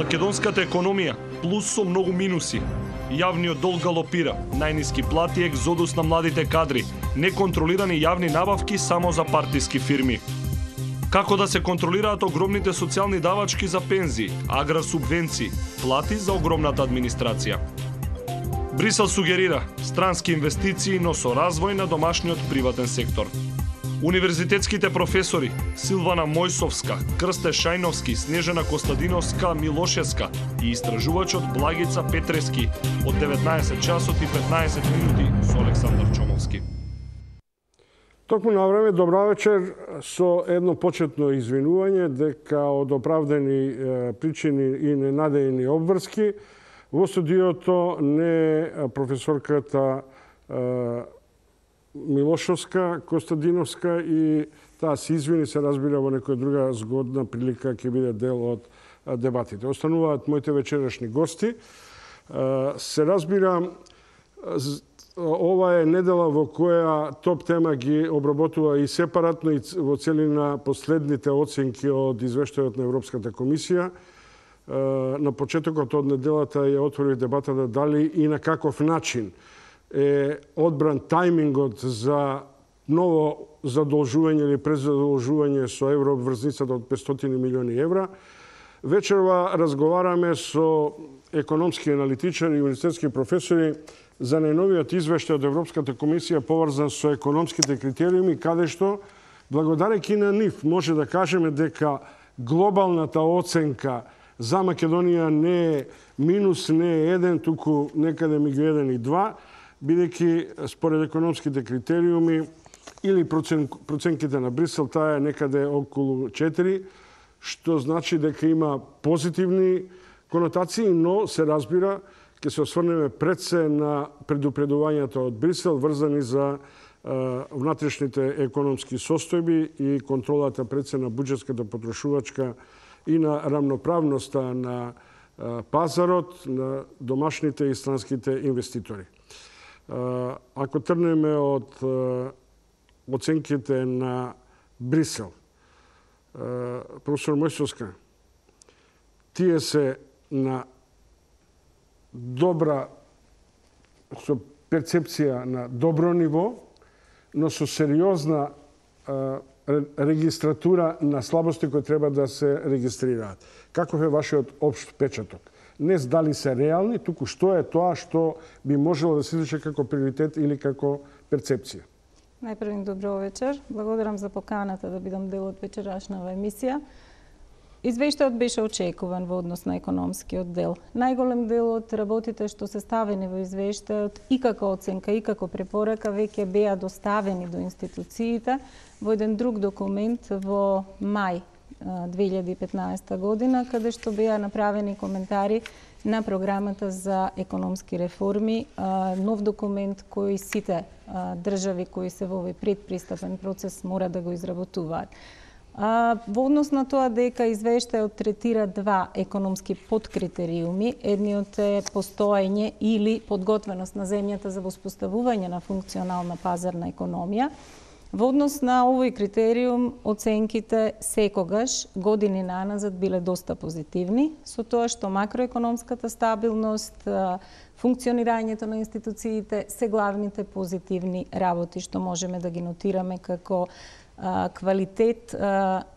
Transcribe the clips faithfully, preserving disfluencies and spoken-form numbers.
Македонската економија плюс со многу минуси. Јавниот долг галопира, најниски плати, екзодус на младите кадри, неконтролирани јавни набавки само за партиски фирми. Како да се контролираат огромните социјални давачки за пензии, агросубвенции, плати за огромната администрација. Брисел сугерира странски инвестиции, но со развој на домашниот приватен сектор. Универзитетските професори Силвана Мојсовска, Крсте Шајновски, Снежана Костадиновска, Милошевска и истражувачот Благица Петрески од деветнаесет часот и петнаесет минути со Александар Чомовски. Токму на време, добра вечер, со едно почетно извинување дека од оправдани е, причини и ненадејни обврски во студиото не професорката е, Милошовска, Костадиновска и таа се извини, се разбира во некоја друга згодна прилика ќе биде дел од дебатите. Остануваат моите вечерашни гости. Се разбира, ова е недела во која топ тема ги обработува и сепаратно и во целина последните оценки од извештајот на Европската комисија. На почетокот од неделата ја отвори дебатата дали и на каков начин е одбран тајмингот за ново задолжување или презадолжување со еврообврзницата од петстотини милиони евра. Вечерва разговараме со економски аналитичари и универзитетски професори за најновиот извештај од Европската комисија поврзан со економските критериуми, каде што, благодарејќи на нив, може да кажеме дека глобалната оценка за Македонија не е минус, не е еден, туку некаде меѓу еден и два, бидејќи според економските критериуми или процен, проценките на Брисел, таа е некаде околу четири, што значи дека има позитивни конотации, но се разбира, ќе се осврнеме пред се на предупредувањата од Брисел врзани за е, внатрешните економски состојби и контролата пред се на буџетската потрошувачка и на рамноправноста на е, пазарот, на домашните и странските инвеститори. Ако трнеме од оценките на Брисел, професор Мојсовска, тие се на добра, со перцепција на добро ниво, но со сериозна регистратура на слабости кои треба да се регистрираат. Каков е вашиот општ печаток? Не дали се реални, туку што е тоа што би можело да се извлече како приоритет или како перцепција. Најпрво добро вечер. Благодарам за поканата да бидам дел од вечерашнава емисија. Извештајот беше очекуван во однос на економскиот дел. Најголем дел од работите што се ставени во извештајот и како оценка и како препорака веќе беа доставени до институциите во еден друг документ во мај две илјади и петнаесета година, каде што беа направени коментари на програмата за економски реформи, нов документ кој сите држави кои се во овој предпристапен процес мора да го изработуваат. Во однос на тоа дека извештајот третира два економски подкритериуми, едниот е постоење или подготвеност на земјата за воспоставување на функционална пазарна економија. Во однос на овој критериум, оценките секогаш години наназад биле доста позитивни, со тоа што макроекономската стабилност, функционирањето на институциите се главните позитивни работи што можеме да ги нотираме како квалитет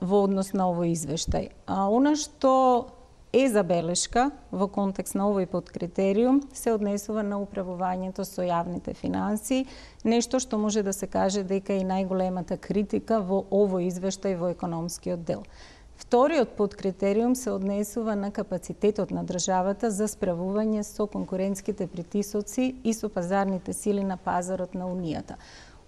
во однос на овој извештај. А она што е забелешка во контекст на овој подкритериум се однесува на управувањето со јавните финансии, нешто што може да се каже дека е најголемата критика во овој извештај во економскиот дел. Вториот подкритериум се однесува на капацитетот на државата за справување со конкурентските притисоци и со пазарните сили на пазарот на Унијата.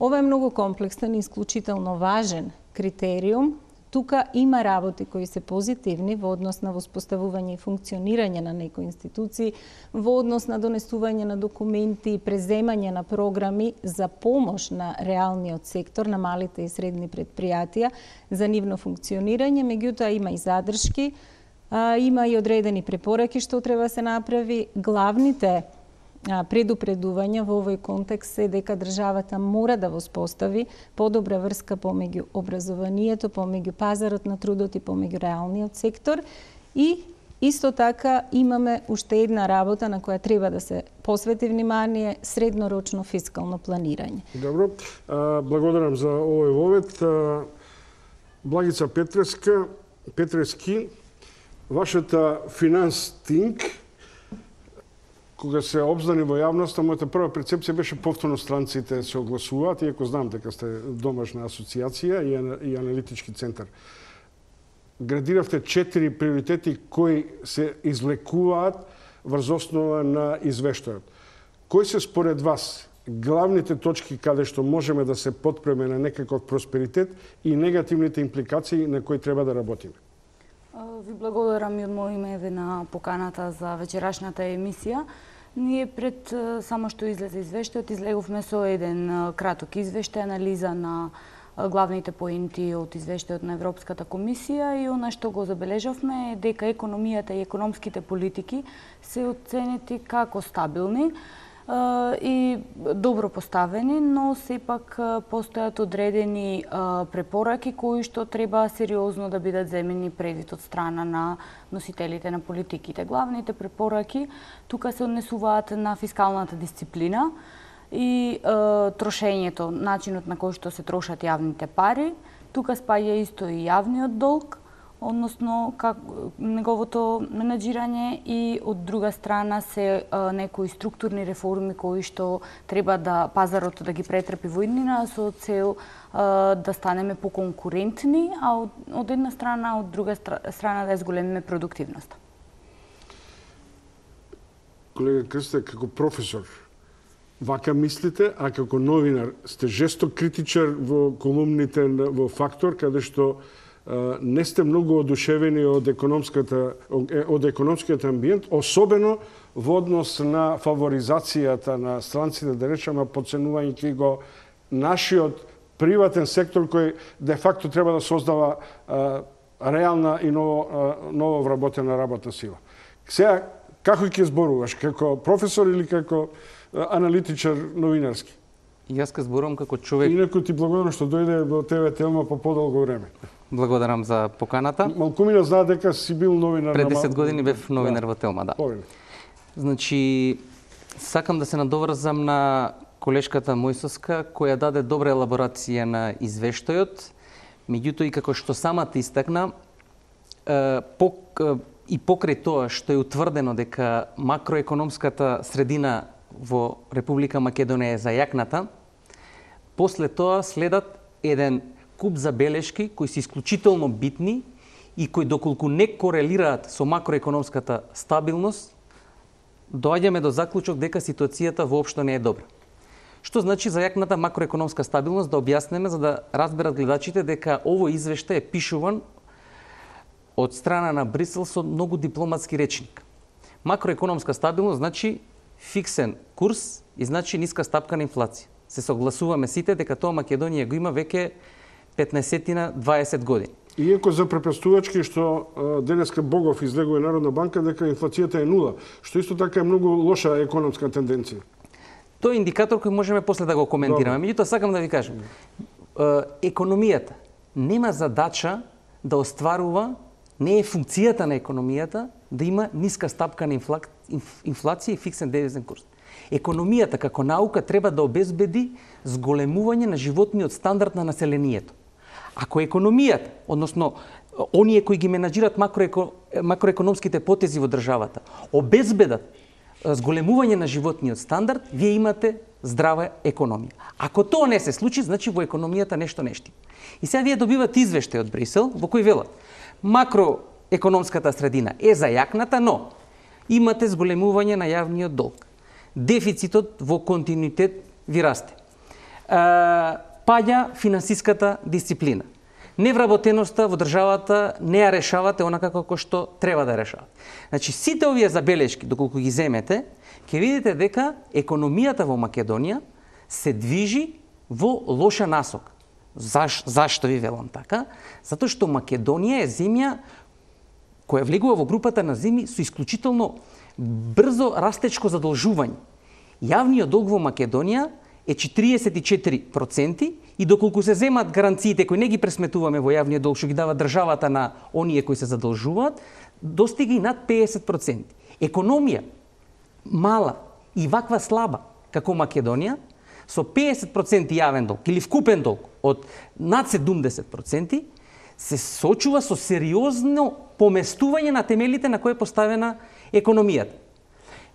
Ова е многу комплексен и исклучително важен критериум. Тука има работи кои се позитивни во однос на воспоставување и функционирање на некои институции, во однос на донесување на документи и преземање на програми за помош на реалниот сектор, на малите и средни предпријатија за нивно функционирање, меѓутоа има и задршки, има и одредени препораки што треба се направи. Главните предупредувања во овој контекст е дека државата мора да воспостави подобра врска помеѓу образованието, помеѓу пазарот на трудот и помеѓу реалниот сектор и Исто така имаме уште една работа на која треба да се посвети внимание, среднорочно фискално планирање. Добро, а, благодарам за овој вовет. А, Благица Петреска, Петрески, вашата финанс тинк, кога се обзнани во јавноста, мојата прва перцепција беше повторно странците се огласуваат, иако знам дека сте домашна асоциација и аналитички центар. Градиравте четири приоритети кои се излекуваат врз основа на извештајот. Кои се според вас главните точки каде што можеме да се потпреме на некаков просперитет и негативните импликации на кои треба да работиме? Ви благодарам и од моје име на поканата за вечерашната емисија. Ние пред само што излезе извештајот, излеговме со еден краток извештај, анализа на главните поенти од извештајот на Европската комисија и она што го забележавме е дека економијата и економските политики се оценети како стабилни и добро поставени, но сепак постојат одредени препораки кои што треба сериозно да бидат земени предвид од страна на носителите на политиките. Главните препораки тука се однесуваат на фискалната дисциплина и трошењето, начинот на кој што се трошат јавните пари. Тука спаѓа исто и јавниот долг, односно как, неговото менаџирање и од друга страна се а, некои структурни реформи кои што треба да пазарот да ги претрпи во иднина со цел а, да станеме поконкурентни, а од, од една страна, а од друга страна да зголемиме продуктивноста. Колега Крсте, како професор, вака мислите, а како новинар сте жесток критичар во колумните во Фактор, каде што не сте многу одушевени од економската од економскиот амбиент, особено во однос на фаворизацијата на странците, да речеме, подценувајќи го нашиот приватен сектор кој де факто треба да создава а, реална и ново, а, ново вработена работна сила. Сега, како ќе зборуваш? Како професор или како аналитичар новинарски? И јас ке зборувам како човек. Инаку ти благодарам што дојде во ТВ Телма по подолго време. Благодарам за поканата. Малкумина знае дека си бил новинар. Пред десет години бев новинар да. Во Телма, да. Повели. Значи, сакам да се надоврзам на колешката Мојсовска, која даде добра елаборација на извештајот, меѓутоа и како што самата истакна, и покрај тоа што е утврдено дека макроекономската средина во Република Македонија е зајакната, после тоа следат еден куп забелешки кои се исклучително битни и кои доколку не корелираат со макроекономската стабилност, доаѓаме до заклучок дека ситуацијата воопшто не е добра. Што значи зајакната макроекономска стабилност, да објаснеме за да разберат гледачите дека овој извештај е пишуван од страна на Брисел со многу дипломатски речник. Макроекономска стабилност значи фиксен курс и значи ниска стапка на инфлација. Се согласуваме сите дека тоа Македонија го има веќе петнаесет на дваесет години. Иако за препрастувачки што денеска Богов излегува Народна банка дека инфлацијата е нула, што исто така е многу лоша економска тенденција. Тоа е индикатор кој можеме после да го коментираме. Меѓутоа сакам да ви кажам, економијата нема задача да остварува, не е функцијата на економијата да има ниска стапка на инфлација и фиксен девизен курс. Економијата како наука треба да обезбеди зголемување на животниот стандард на населението. Ако економијата, односно оние кои ги менаџират макроеко, макроекономските потези во државата, обезбедат зголемување на животниот стандард, вие имате здрава економија. Ако тоа не се случи, значи во економијата нешто не штима. И сега вие добивате извештај од Брисел во кој велат макроекономската средина е зајакната, но имате зголемување на јавниот долг. Дефицитот во континуитет ви расте. Паѓа финансиската дисциплина. Невработеноста во државата не ја решавате онака како што треба да решавате. Значи, сите овие забелешки, доколку ги земете, ќе видите дека економијата во Македонија се движи во лоша насока. Заш, зашто ви велам така? Затоа што Македонија е земја која влегува во групата на земји со исклучително брзо растечко задолжување. Јавниот долг во Македонија е четириесет и четири проценти и доколку се земат гаранциите кои не ги пресметуваме во јавниот долг што ги дава државата на оние кои се задолжуваат, достига и над педесет проценти. Економија мала и ваква слаба како Македонија, со педесет проценти јавен долг или вкупен долг од над седумдесет проценти, се соочува со сериозно поместување на темелите на кои е поставена економијата.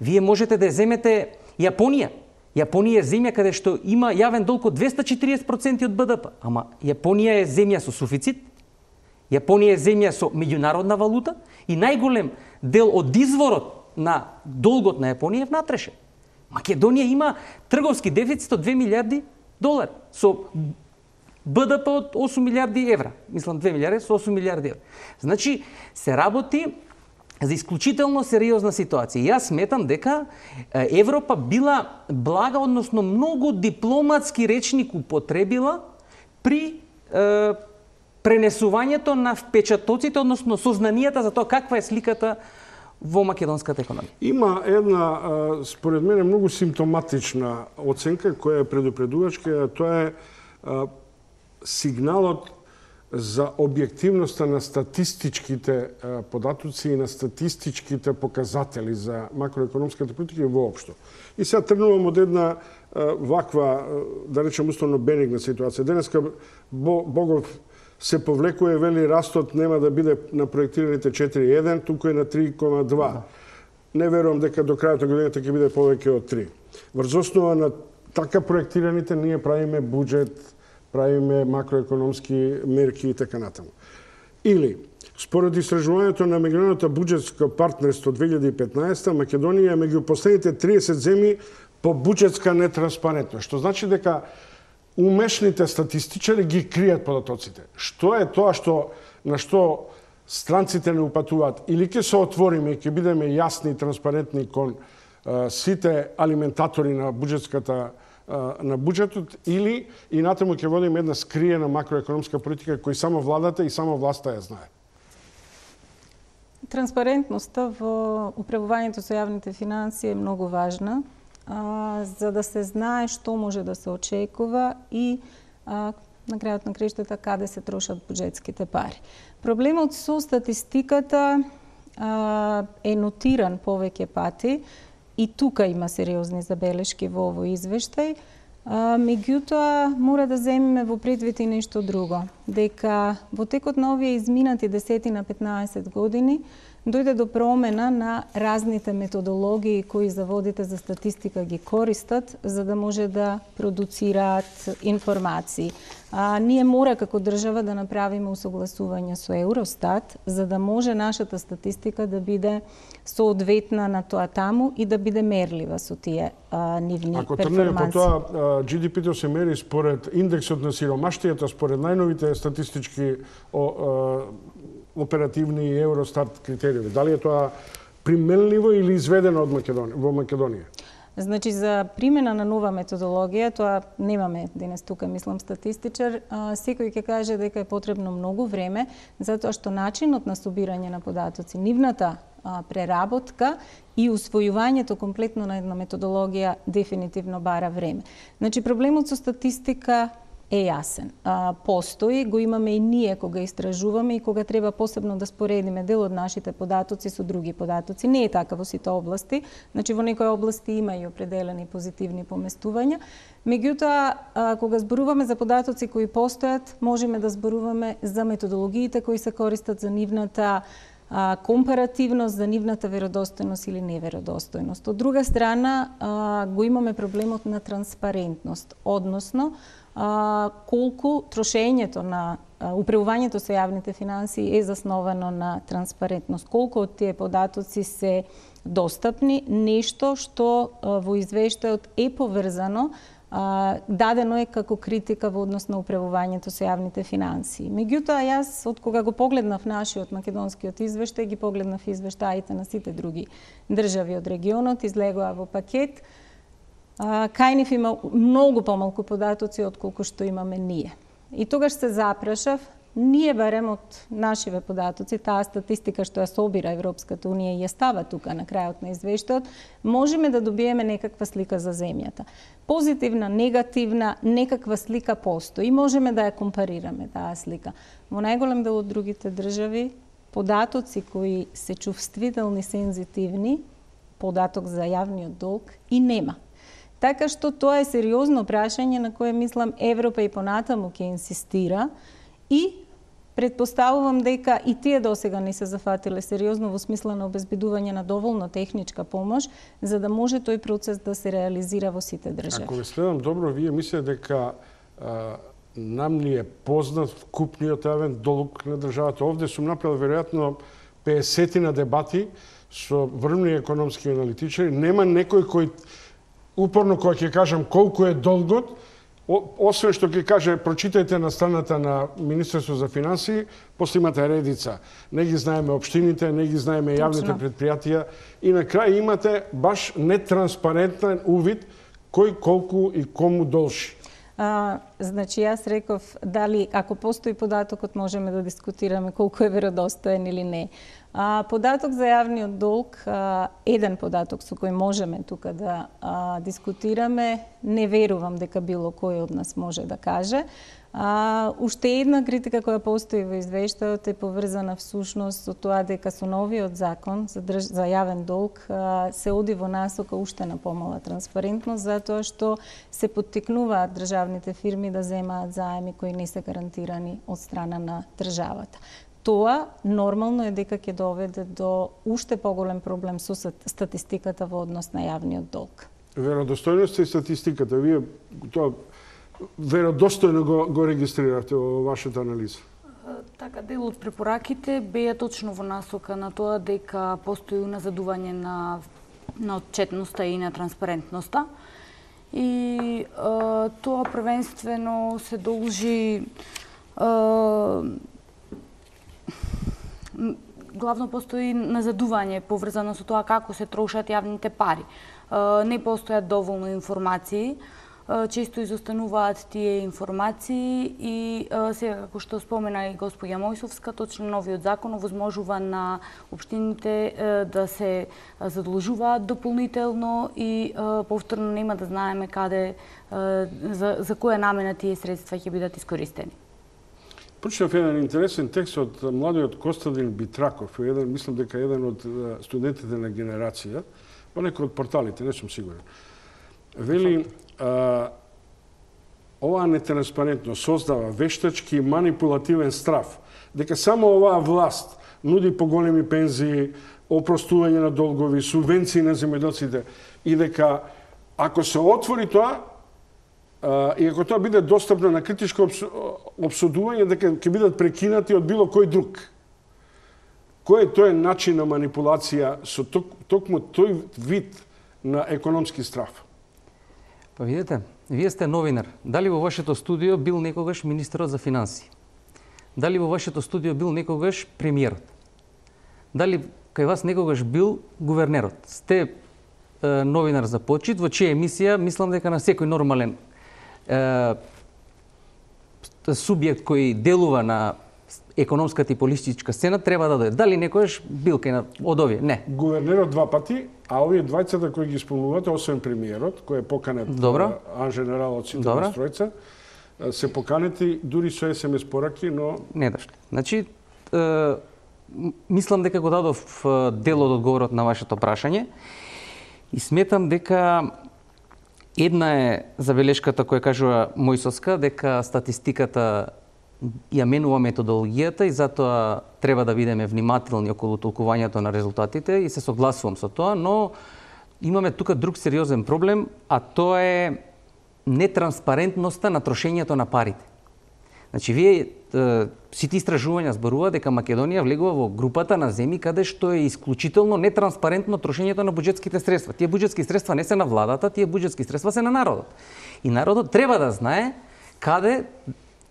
Вие можете да земете Јапонија. Јапонија е земја каде што има јавен долг од двесте и четириесет проценти од Б Д П, ама Јапонија е земја со суфицит, Јапонија е земја со меѓународна валута и најголем дел од изворот на долгот на Јапонија е внатрешен. Македонија има трговски дефицит од две милиарди долари со Б Д П од осум милиарди евра. Мислам две милиарди со осум милиарди евра. Значи се работи за исклучително сериозна ситуација. Јас сметам дека Европа била блага, односно многу дипломатски речник употребила при е, пренесувањето на впечатоците, односно сознанијата за тоа каква е сликата во македонската економија. Има една, според мене, многу симптоматична оценка која е предупредувачка, тоа е сигналот за објективноста на статистичките податоци и на статистичките показатели за макроекономската политика и воопшто. И сега тргнувам од една ваква, да речем условно бенигна ситуација. Денеска Богов се повлекува, вели растот нема да биде на проектираните четири и еден, туку е на три и два. Не верувам дека до крајот на годината ќе биде повеќе од три. Врз основа на така проектираните ние правиме буџет, правиме макроекономски мерки и така натаму. Или, според истражувањето на меѓународното буџетско партнерство две илјади и петнаесета, Македонија е меѓу последните триесет земји по буџетска нетранспарентност, што значи дека умешните статистичари ги кријат податоците. Што е тоа што на што странците не упатуваат? Или ќе се отвориме и ќе бидеме јасни и транспарентни кон а, сите алиментатори на буџетската на буџетот, или и натаму ќе водиме една скриена макроекономска политика кој само владата и само власта ја знае. Транспарентноста во управувањето со јавните финансии е многу важна, а, за да се знае што може да се очекува и а, на крајот на краиштата каде се трошат буџетските пари. Проблемот со статистиката а, е нотиран повеќе пати. И тука има сериозни забелешки во овој извештај. А, меѓутоа, мора да земеме во предвид и нешто друго. Дека во текот на овие изминати десет на петнаесет години дојде до промена на разните методологии кои заводите за статистика ги користат за да може да продуцираат информации. А, ние мора како држава да направиме усогласување со Евростат за да може нашата статистика да биде соодветна на тоа таму и да биде мерлива со тие а, нивни Ако перформанси. тргнеме по тоа, Джи Ди Пи-то се мери според индексот на сиромаштијата, според најновите статистички о, о, оперативни и Евростат критериуми. Дали е тоа применливо или изведено од Македонија, во Македонија? Значи, за примена на нова методологија, тоа немаме денес тука, мислам, статистичар, а, секој ќе каже дека е потребно многу време, затоа што начинот на собирање на податоци, нивната а, преработка и усвојувањето комплетно на една методологија дефинитивно бара време. Значи, проблемот со статистика е јасен. А, постои, го имаме и ние кога истражуваме и кога треба посебно да споредиме дел од нашите податоци со други податоци. Не е така во сите области, значи во некои области има и определени позитивни поместувања. Меѓутоа, а, кога зборуваме за податоци кои постојат, можеме да зборуваме за методологиите кои се користат за нивната а, компаративност, за нивната веродостојност или неверодостојност. Од друга страна, а, го имаме проблемот на транспарентност, односно а, колку трошењето на а, управувањето со јавните финансии е засновано на транспарентност, колку од тие податоци се достапни, нешто што а, во извештајот е поврзано, а, дадено е како критика во однос на управувањето со јавните финансии. Меѓутоа, јас, од кога го погледнав нашиот македонскиот извештај, ги погледнав извештаите на сите други држави од регионот, излегоа во пакет. Кај нив има многу помалку податоци од колку што имаме ние. И тогаш се запрашав, ние барем од нашиве податоци, таа статистика што ја собира Европската унија и ја става тука на крајот на извештајот, можеме да добиеме некаква слика за земјата. Позитивна, негативна, некаква слика постои и можеме да ја компарираме таа слика. Во најголем дел од другите држави податоци кои се чувствителни, сензитивни, податок за јавниот долг и нема. Така што тоа е сериозно прашање на кое мислам Европа и понатаму ќе инсистира и предпоставувам дека и тие досега не се зафатиле сериозно во смисла на обезбедување на доволно техничка помош за да може тој процес да се реализира во сите држави. Ако ве следам добро, вие мислите дека а, нам ни е познат вкупниот јавен долг на државата. Овде сум направил веројатно песет на дебати со врвни економски аналитичари. Нема некој кој упорно кога ќе кажам колку е долгот, освен што ќе каже прочитајте на страната на Министерство за финансии, после имате редица. Не ги знаеме општините, не ги знаеме јавните предпријатија и на крај имате баш нетранспарентен увид кој колку и кому должи. А, значи, јас реков дали, ако постои податокот, можеме да дискутираме колку е веродостоен или не. А, податок за јавниот долг, а, еден податок со кој можеме тука да а, дискутираме, не верувам дека било кој од нас може да каже. А, уште една критика која постои во извештајот е поврзана всушност со тоа дека со новиот закон за, држ... за јавен долг а, се оди во насока уште на помала транспарентност, затоа што се поттикнуваат државните фирми да земаат заеми кои не се гарантирани од страна на државата. Тоа нормално е дека ќе доведе до уште поголем проблем со статистиката во однос на јавниот долг. Веродостојноста и статистиката, вие тоа веродостојно го, го регистрирате во вашата анализа? Така, дел од препораките беа точно во насока на тоа дека постои уназадување на, на отчетноста и на транспарентноста. И а, тоа првенствено се должи а, главно постои назадување поврзано со тоа како се трошат јавните пари. А, не постојат доволно информации, често изостануваат тие информации и сега, како што спомена и господја Мојсовска, точно новиот закон овозможува на општините да се задолжуваат дополнително и повторно нема да знаеме каде, за, за која намена тие средства ќе бидат искористени. Прочитав еден интересен текст од младиот Костадин Битраков, еден, мислам дека еден од студентите на генерација, па некој од порталите, не сум сигурен. Вели, а, оваа нетранспарентност создава вештачки и манипулативен страф, дека само оваа власт нуди поголеми пензии, опростување на долгови, субвенции на земјоделците и дека ако се отвори тоа, а, и ако тоа биде достапно на критичко обсудување, дека ќе бидат прекинати од било кој друг. Кој е тој начин на манипулација со ток, токму тој вид на економски страф? Па видите, вие сте новинар. Дали во вашето студио бил некогаш министерот за финансии? Дали во вашето студио бил некогаш премиерот? Дали кај вас некогаш бил гувернерот? Сте е, новинар за почит, во чија емисија, мислам дека на секој нормален е, субјект кој делува на економската и политичка сцена треба да дојде. Дали некојаш бил кај од овие? Не. Гувернерот два пати, а овие двајцата кои ги спомнувате, освен премиерот, кој е поканет ан женерал од сите настројца, се поканети дури со ес ем ес пораки, но не дошли. Значи, е, мислам дека го дадов дел од одговорот на вашето прашање и сметам дека една е забелешката која кажува Мојсовска, дека статистиката ја менува методологијата и затоа треба да бидеме внимателни околу толкувањето на резултатите и се согласувам со тоа, но имаме тука друг сериозен проблем, а тоа е нетранспарентноста на трошењето на парите. Значи, вие сите истражувања зборува дека Македонија влегува во групата на земји каде што е исклучително нетранспарентно трошењето на буџетските средства. Тие буџетски средства не се на владата, тие буџетски средства се на народот. И народот треба да знае каде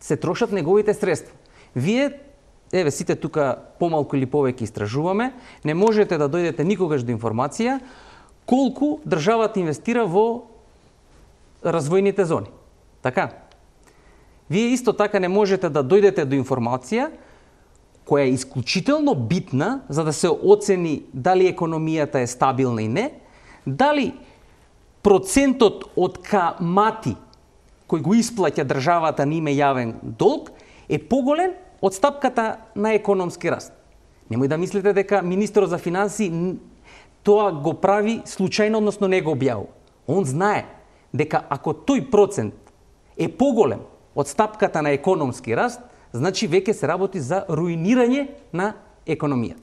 се трошат неговите средства. Вие, еве сите тука помалку или повеќе истражуваме, не можете да дојдете никогаш до информација колку државата инвестира во развојните зони. Така? Вие исто така не можете да дојдете до информација која е исклучително битна за да се оцени дали економијата е стабилна и не, дали процентот од камати кој го исплаќа државата на име јавен долг е поголем од стапката на економски раст. Немој да мислите дека министерот за финансии тоа го прави случајно, односно не го објавува. Он знае дека ако тој процент е поголем од стапката на економски раст, значи веќе се работи за руинирање на економијата.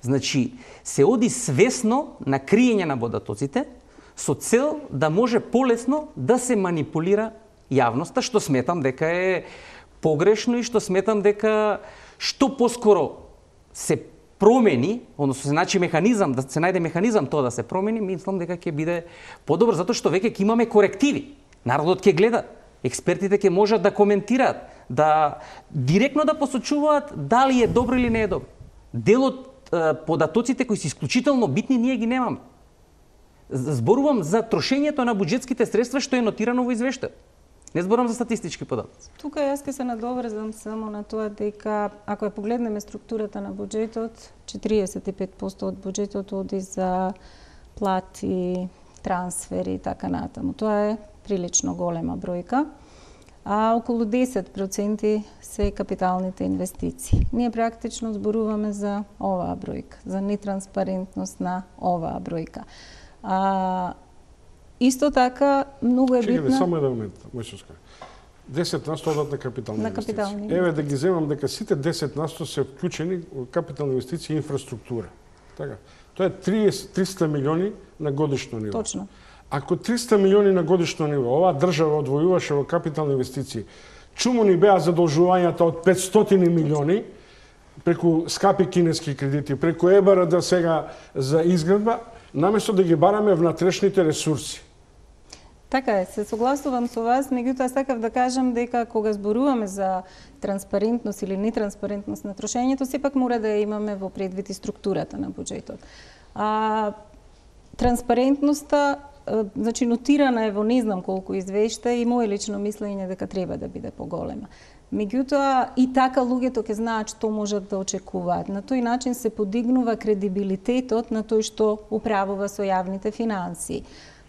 Значи, се оди свесно на криење на водатоците со цел да може полесно да се манипулира јавноста, што сметам дека е погрешно и што сметам дека што поскоро се промени, односно се најде механизам, да се најде механизам тоа да се промени, мислам дека ќе биде подобро, затоа што веќе ќе имаме корективи. Народот ќе гледа, експертите ќе можат да коментираат, да директно да посочуваат дали е добро или не е добро. Дел од податоците кои се исклучително битни ние ги немаме. Зборувам за трошењето на буџетските средства што е нотирано во извештајот. Не зборувам за статистички податоци. Тука јас ќе се надоврзам само на тоа дека ако ја погледнеме структурата на буџетот, четириесет и пет проценти од буџетот оди за плати, трансфери и така натаму. Тоа е прилично голема бројка. А околу десет проценти се капиталните инвестиции. Ние практично зборуваме за оваа бројка, за нетранспарентност на оваа бројка. А, исто така, многу е битна... Чекайте, само еден момент, Мојсовска. десет на сто одат на капитални на инвестиции. капитални Еве да ги земам дека сите десет на сто се вклучени во капитални инвестиции и инфраструктура. Така. Тоа е триста милиони на годишно ниво. Точно. Ако триста милиони на годишно ниво оваа држава одвојуваше во капитални инвестиции, чуму ни беа задолжувањата од петстотини милиони преку скапи кинески кредити, преку Е Б Р Д сега за изградба, наместо да ги бараме внатрешните ресурси. Така е, се согласувам со вас, меѓутоа сакав да кажам дека кога зборуваме за транспарентност или нетранспарентност на трошењето, сепак мора да ја имаме во предвид и структурата на буџетот. А, транспарентноста, значи нотирана е во не знам колку извешта и моје лично мислење дека треба да биде поголема. Меѓутоа и така луѓето ќе знаат што можат да очекуваат. На тој начин се подигнува кредибилитетот на тој што управува со јавните финансии.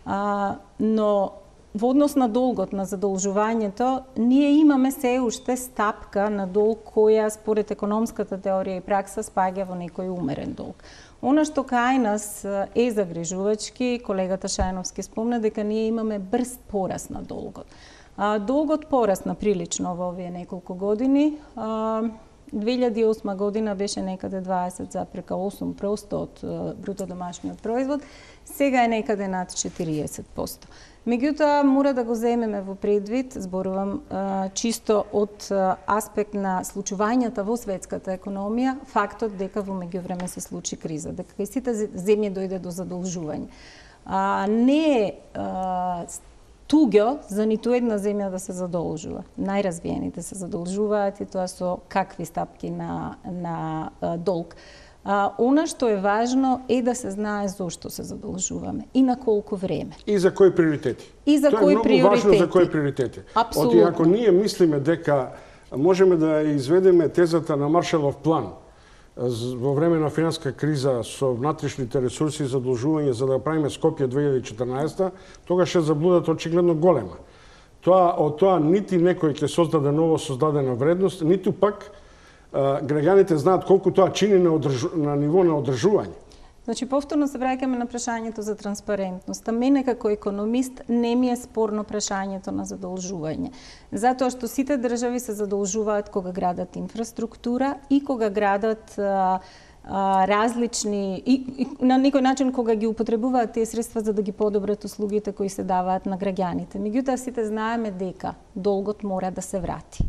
А, но во однос на долгот, на задолжувањето, ние имаме се уште стапка на долг која според економската теорија и пракса спаѓа во некој умерен долг. Она што кај нас е загрижувачки, колегата Шајновски спомна дека ние имаме брз пораст на долгот. А, долгот порасна прилично во овие неколку години. А, две илјади и осма година беше некаде дваесет зарез осум проценти од бруто домашниот производ, сега е некаде над четириесет проценти. Меѓутоа, мора да го земеме во предвид, зборувам а, чисто од а, аспект на случувањата во светската економија, фактот дека во меѓувреме се случи криза, дека кај сите земји дојде до задолжување. А, не е а, туѓо за ниту една земја да се задолжува. Најразвиените се задолжуваат и тоа со какви стапки на, на а, долг. А, она што е важно е да се знае зошто се задолжуваме и на колку време. И за кои приоритети. И за кои приоритети. Тоа е многу важно за кои приоритети. Апсолутно. Оти, ако ние мислиме дека можеме да изведеме тезата на Маршалов план во време на финанска криза со внатрешните ресурси и задолжување за да правиме Скопје две илјади и четрнаесета, тогаш е заблудата очигледно голема. Тоа од тоа нити некој ќе создаде ново создадена вредност, ниту пак граѓаните знаат колку тоа чини на, одржу, на ниво на одржување. Значи, повторно се враќаме на прашањето за транспарентноста. Мене како економист не ми е спорно прашањето на задолжување. Затоа што сите држави се задолжуваат кога градат инфраструктура и кога градат а, а, различни и, и на некој начин кога ги употребуваат тие средства за да ги подобрат услугите кои се даваат на граѓаните. Меѓутоа сите знаеме дека долгот мора да се врати.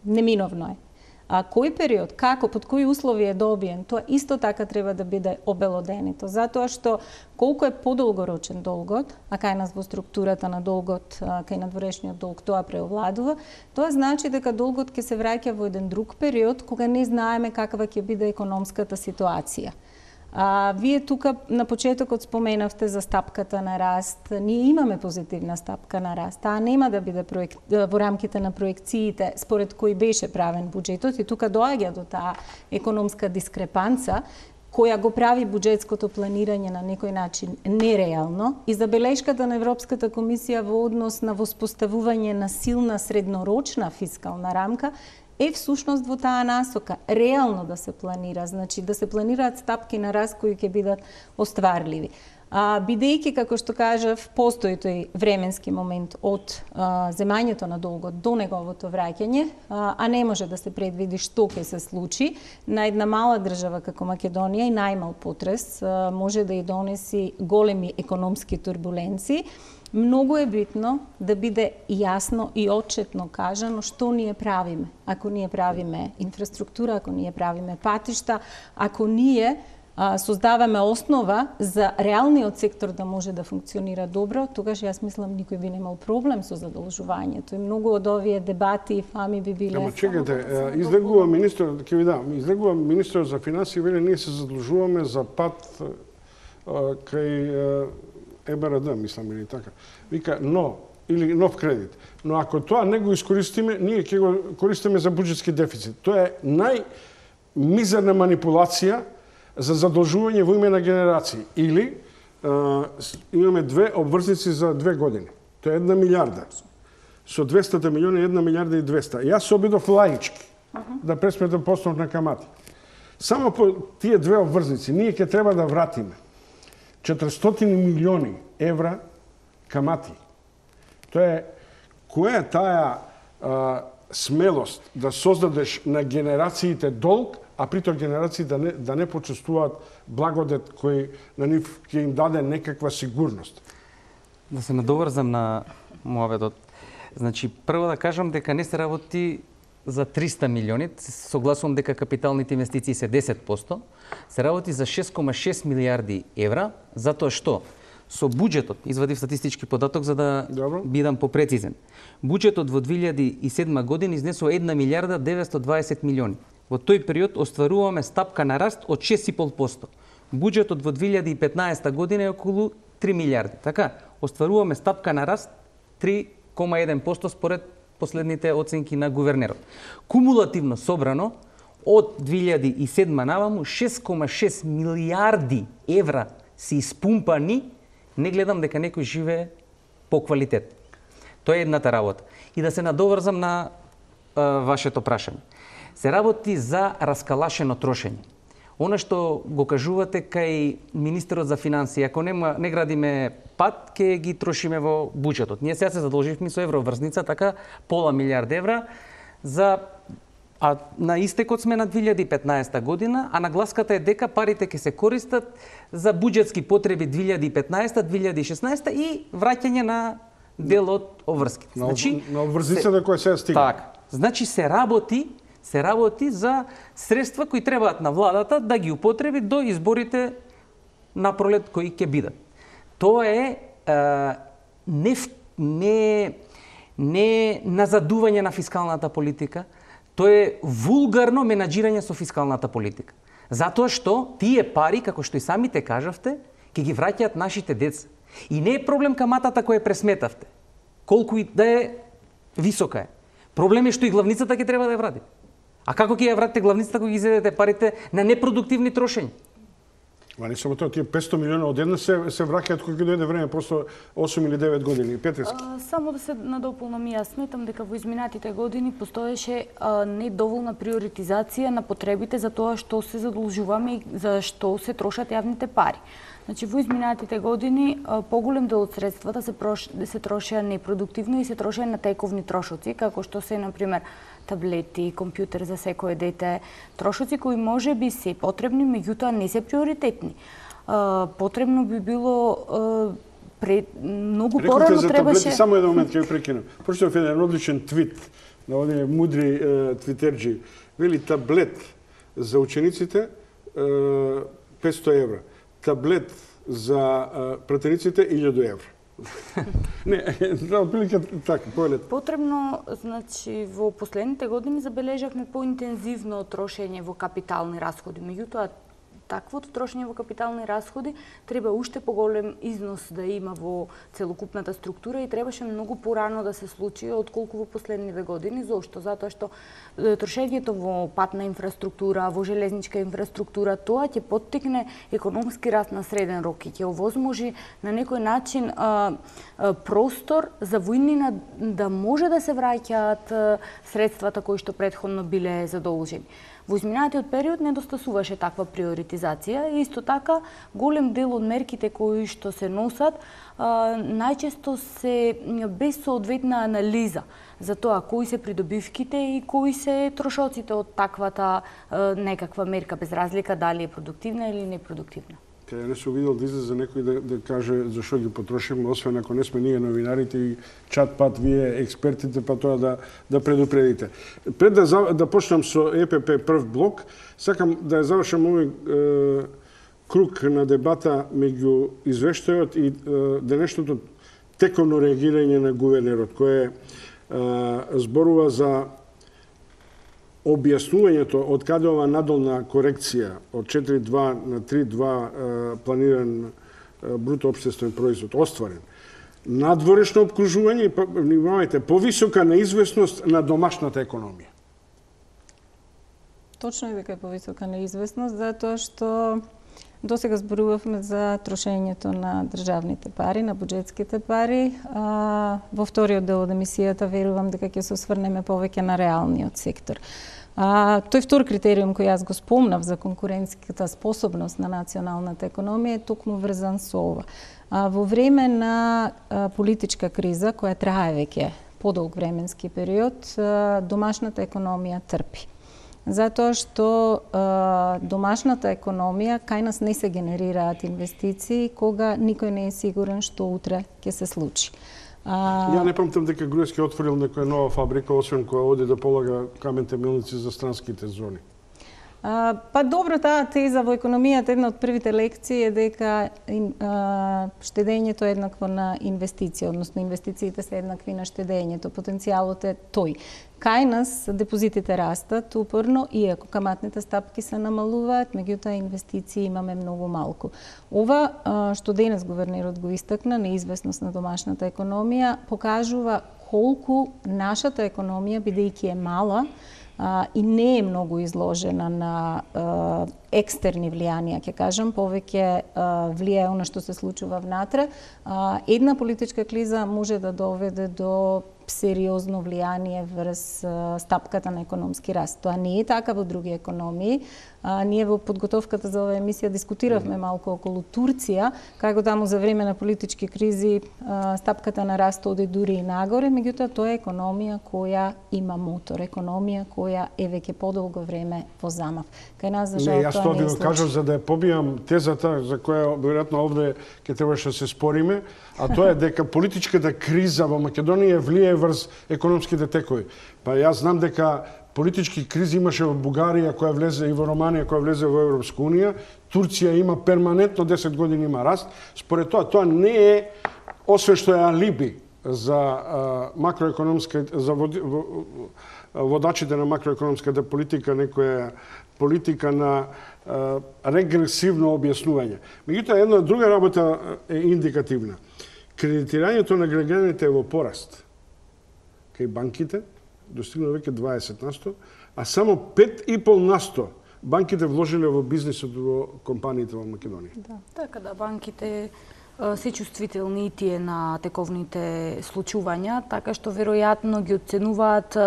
Неминовно е. А кој период, како, под кои услови е добиен, тоа исто така треба да биде обелоденито. Затоа што колку е подолгорочен долгот, а кај нас во структурата на долгот, кај надворешниот долг тоа преовладува, тоа значи дека долгот ќе се враќа во еден друг период кога не знаеме каква ќе биде економската ситуација. А, вие тука на почетокот споменавте за стапката на раст. Ние имаме позитивна стапка на раст. Таа нема да биде проект, во рамките на проекциите според кои беше правен буџетот и тука доаѓа до таа економска дискрепанца која го прави буџетското планирање на некој начин нереално и забелешката на Европската комисија во однос на воспоставување на силна среднорочна фискална рамка е всушност во таа насока, реално да се планира, значи да се планираат стапки на раст кои ќе бидат остварливи. А, бидејќи, како што кажав, постои тој временски момент од а, земањето на долгот до неговото враќање, а, а не може да се предвиди што ќе се случи, на една мала држава како Македонија и најмал потрес а, може да и донеси големи економски турбуленции. Многу е битно да биде јасно и отчетно кажано што ние правиме. Ако ние правиме инфраструктура, ако ние правиме патишта, ако ние а, создаваме основа за реалниот сектор да може да функционира добро, тогаш јас мислам никој би немал проблем со задолжувањето. И многу од овие дебати и фами би биле... Ама чекате, излегува министр, ќе ви дам, излегува министр за финансии, вели ние се задолжуваме за пат а, кај Е Б Р Д, мислам, или така. Вика, но, или нов кредит. Но ако тоа не го искористиме, ние ќе го користиме за буџетски дефицит. Тоа е најмизерна манипулација за задолжување во име на генерации. Или а, имаме две обврзници за две години. Тоа е една милиарда. Со двеста милиони, една милиарда и двеста. Јас се обидов лаички да пресметам постот на камати. Само по тие две обврзници ние ќе треба да вратиме четиристотини милиони евра камати. Тоа е, која е таа а, смелост да создадеш на генерациите долг, а притоа генерации да не, да не почувствуваат благодет кој на нив ќе им даде некаква сигурност? Да се надоврзам на Муаведот. Значи, прво да кажам дека не се работи за триста милиони, согласувам дека капиталните инвестиции се десет проценти, се работи за шест кома шест милиарди евра, затоа што со буџетот, извадив статистички податок за да Добро. бидам попрецизен. Буџетот во две илјади и седма година изнесува една милиарда деветстотини и дваесет милиони. Во тој период остваруваме стапка на раст од шест и пол проценти. Буџетот во две илјади и петнаесета година е околу три милиарди. Така, остваруваме стапка на раст три кома еден проценти според последните оценки на гувернерот. Кумулативно собрано, од две илјади и седма наваму, шест кома шест милиарди евра се испумпани, не гледам дека некој живее по квалитет. Тоа е едната работа. И да се надоврзам на а, вашето прашање. Се работи за раскалашено трошење. Она што го кажувате кај министерот за финансии, ако нема, не градиме пат, ќе ги трошиме во буџетот. Ние сега се задолживме со евроврзница, така пола милиарда евра, за, а на истекот сме на две илјади и петнаесета година, а нагласката е дека парите ќе се користат за буџетски потреби две илјади и петнаесета, две илјади и шеснаесета и враќање на дел од обврските. Значи, на обврзницата која се стига. Така. Значи се работи се работи за средства кои требаат на владата да ги употреби до изборите на пролет кои ќе бидат. Тоа е, е не, не, не назадување на фискалната политика, тоа е вулгарно менаџирање со фискалната политика. Затоа што тие пари, како што и самите кажавте, ќе ги враќаат нашите деца. И не е проблем каматата која пресметавте, колку и да е висока е. Проблем е што и главницата ќе треба да ја врати. А како ќе ја вратите главницата кога ги изедете парите на непродуктивни трошења? Ма не само тоа, тие петстотини милиона одеднаш се, се враќаат кога дојде време, просто осум или девет години. Петрески. А, само да се надополнам, јас сметам дека во изминатите години постоеше а, недоволна приоритизација на потребите за тоа што се задолжуваме и за што се трошат јавните пари. Значи, во изминатите години поголем дел од средствата се, прош, се трошеа непродуктивно и се трошеа на тековни трошоци, како што се, например, таблети, компјутер за секое дете, трошоци кои може би се потребни, меѓутоа не се приоритетни. А, потребно би било а, пред, многу порано требаше... требаше... Само еден момент ќе ви прекинам. Прочитав еден одличен твит на овие мудри е, твитерџи. Вели таблет за учениците е, петстотини евра. Таблет за пратениците илјаду евра. Не, да, отприлика така, поелет. Потребно, значи, во последните години забележавме поинтензивно трошење во капитални расходи. Меѓутоа, таквото трошење во капитални расходи, треба уште поголем износ да има во целокупната структура и требаше многу порано да се случи отколку во последниве години. Зошто? Затоа што трошењето во патна инфраструктура, во железничка инфраструктура, тоа ќе поттикне економски раст на среден рок и ќе овозможи на некој начин а, а, простор за војнина да може да се враќаат средствата кои што претходно биле задолжени. Во изминатиот период недостасуваше таква приоритизација и исто така голем дел од мерките кои што се носат а, најчесто се без соодветна анализа за тоа кои се придобивките и кои се трошоците од таквата а, некаква мерка, без разлика дали е продуктивна или непродуктивна. Ја не сум видел да излезе некој да, да каже зашо ги потрошиме, освен ако не сме ние новинарите и чат пат вие експертите, па тоа да, да предупредите. Пред да, да почнам со Е Пе Пе прв блок, сакам да ја завршам овој е, круг на дебата меѓу извештајот и е, денешното тековно реагирање на гувернерот, кој е, зборува за објаснувањето од каде ова надолна корекција од четири два на три два планиран бруто општествен производ остварен. Надворешно обкружување и, внимавајте, повисока неизвестност на домашната економија. Точно е дека е повисока неизвестност, затоа што досега зборувавме за трошењето на државните пари, на буџетските пари. А, во вториот дел од емисијата верувам дека ќе се осврнеме повеќе на реалниот сектор. А, тој втор критериум кој јас го спомнав за конкурентската способност на националната економија е токму врзан со ова. А, во време на а, политичка криза, која трае веќе подолг временски период, а, домашната економија трпи. Затоа што а, домашната економија кај нас не се генерираат инвестиции кога никој не е сигурен што утре ќе се случи. А... Ја не памтам дека Груевски отворил некоја нова фабрика, освен која оди да полага камен темелници за странските зони. А, па добро, таа теза во економијата, една од првите лекции е дека а, штедењето е еднакво на инвестиција, односно инвестициите се еднакви на штедењето, потенцијалот е тој. Кај нас депозитите растат упорно, иако каматните стапки се намалуваат, меѓутоа инвестиции имаме многу малку. Ова а, што денес гувернерот го истакна, неизвестност на домашната економија, покажува колку нашата економија, бидејќи е мала, Uh, и не е многу изложена на uh, екстерни влијанија, ќе кажам, повеќе uh, влијае она што се случува внатре. Uh, една политичка криза може да доведе до сериозно влијание врз uh, стапката на економски раст. Тоа не е така во други економии. Uh, ние во подготовката за оваа емисија дискутиравме малку околу Турција, како таму за време на политички кризи uh, стапката на раст оди дури и нагоре, меѓутоа тоа е економија која има мотор, економија која е веќе подолго време во замав. Кај нас за жал тоа не е случај. Кажав за да ја побијам тезата за која веројатно овде ќе требаше да се спориме, а тоа е дека политичката криза во Македонија влијае врз економските текови. Па јас знам дека политички кризи имаше во Бугарија која влезе и во Романија која влезе во Европска унија, Турција има перманентно десет години има раст. Според тоа тоа не е освен што е алиби за а, макроекономска за води, водачите на макроекономската политика, некоја политика на а, регресивно објаснување. Меѓутоа, една друга работа е индикативна. Кредитирањето на граѓаните е во пораст. Кај банките достигна веќе дваесет на сто, а само пет и пол на сто банките вложиле во бизнисот во компаниите во Македонија. Да, така да банките се чувствителни и тие на тековните случувања, така што веројатно ги оценуваат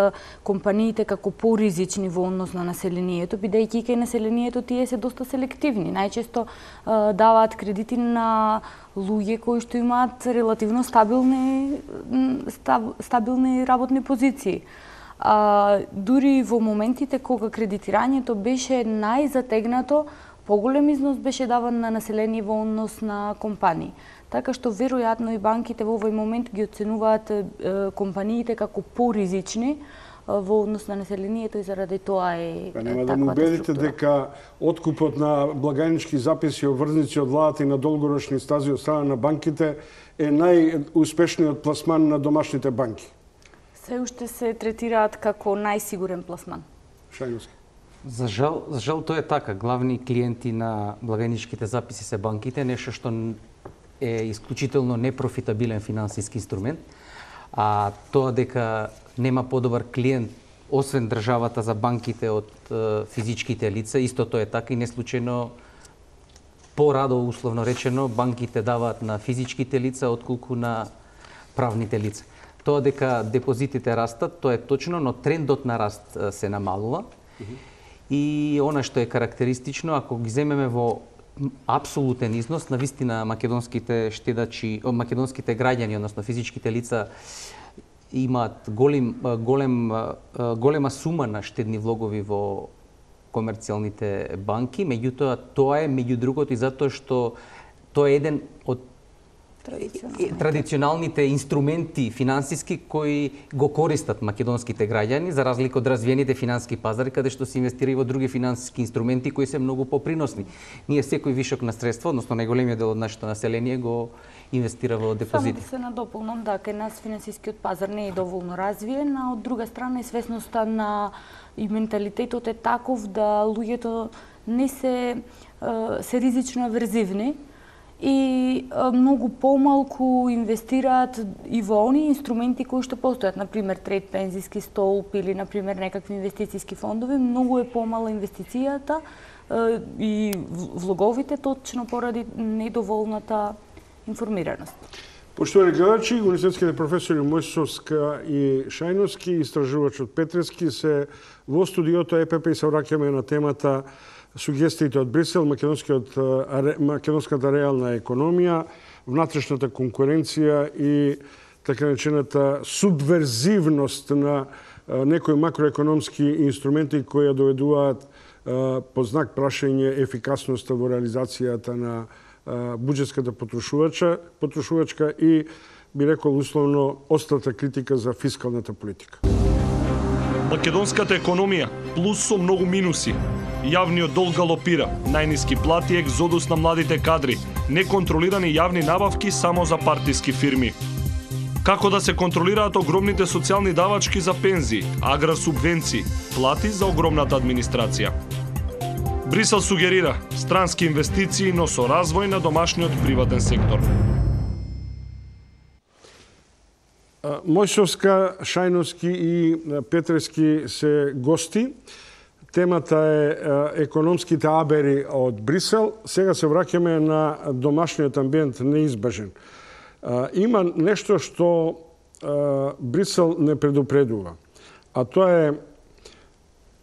компаниите како поризични во однос на населението, бидејќи кај населението тие се доста селективни. Најчесто даваат кредити на луѓе кои што имаат релативно стабилни стабилни работни позиции. А, дури во моментите кога кредитирањето беше најзатегнато, поголем износ беше даван на население во однос на компании. Така што веројатно и банките во овој момент ги оценуваат е, компаниите како поризични е, во однос на населението и заради тоа е Па нема да му убедите дека откупот на благајнички записи и обврзници од владата и на долгорочни стази од страна на банките е најуспешниот пласман на домашните банки. Се уште се третираат како најсигурен пласман. Шајновски. За жал, за жал тоа е така. Главни клиенти на благајничките записи се банките, нешто што е исклучително непрофитабилен финансиски инструмент, а тоа дека нема подобар клиент освен државата за банките од е, физичките лица, истото е така и неслучајно порадо, условно речено, банките даваат на физичките лица отколку на правните лица. Тоа дека депозитите растат, тоа е точно, но трендот на раст се намалува. Mm-hmm. И она што е карактеристично, ако ги земеме во апсолутен износ, навистина македонските штедачи, македонските граѓани, односно физичките лица, имаат голем, голем, голема сума на штедни влогови во комерцијалните банки, меѓутоа тоа е меѓу другото и затоа што тоа е еден од традиционалните инструменти финансиски кои го користат македонските граѓани, за разлика од развиените финансиски пазари, каде што се инвестира и во други финансиски инструменти кои се многу поприносни. Ние секој вишок на средства, односно најголемиот дел од нашето население го инвестира во депозити. Само да се надополнам, да, кај нас финансискиот пазар не е доволно развиен, а од друга страна и свесноста на и менталитетот е таков да луѓето не се се ризично аверзивни и многу помалку инвестираат и во оние инструменти кои што постојат, например трет пензиски столб или например некакви инвестициски фондови, многу е помала инвестицијата и влоговите точно поради недоволната информираност. Поштовани гледачи, универзитетските професори Мојсовска и Шајновски, истражувачот Петрески се во студиото ЕПП и се враќаме на темата сугестиите од Брисел, македонската реална економија, внатрешната конкуренција и така наречената субверзивност на некои макроекономски инструменти кои ја доведуваат под знак прашање ефикасноста во реализацијата на буџетската потрошувача, потрошувачка и, би рекол условно, острата критика за фискалната политика. Македонската економија плюс со многу минуси. Јавниот долг галопира, најниски плати, екзодус на младите кадри, неконтролирани јавни набавки само за партиски фирми. Како да се контролираат огромните социјални давачки за пензии, агросубвенции, плати за огромната администрација. Брисел сугерира странски инвестиции, но со развој на домашниот приватен сектор. Мојсовска, Шајновски и Петрески се гости. Темата е економските абери од Брисел. Сега се враќаме на домашниот амбиент неизбежен. Има нешто што Брисел не предупредува, а тоа е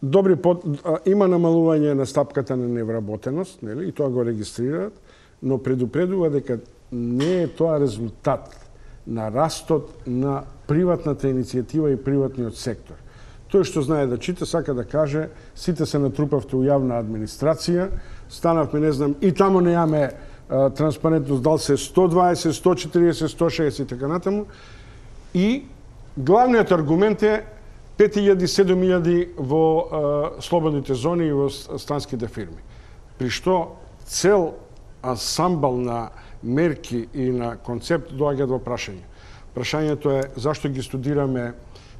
добри под... има намалување на стапката на невработеност, нели, и тоа го регистрираат, но предупредува дека не е тоа резултат на растот на приватната иницијатива и приватниот сектор. Тој што знае да чита, сака да каже, сите се натрупавте у јавна администрација, станавме, не знам, и тамо неаме транспарентност, дал се сто дваесет, сто четириесет, сто шеесет и така натаму. И главниот аргумент е пет илјади, седум илјади во а, слободните зони и во станските фирми. При што цел ансамбл на мерки и на концепт доаѓаат во прашање. Прашањето е зашто ги студираме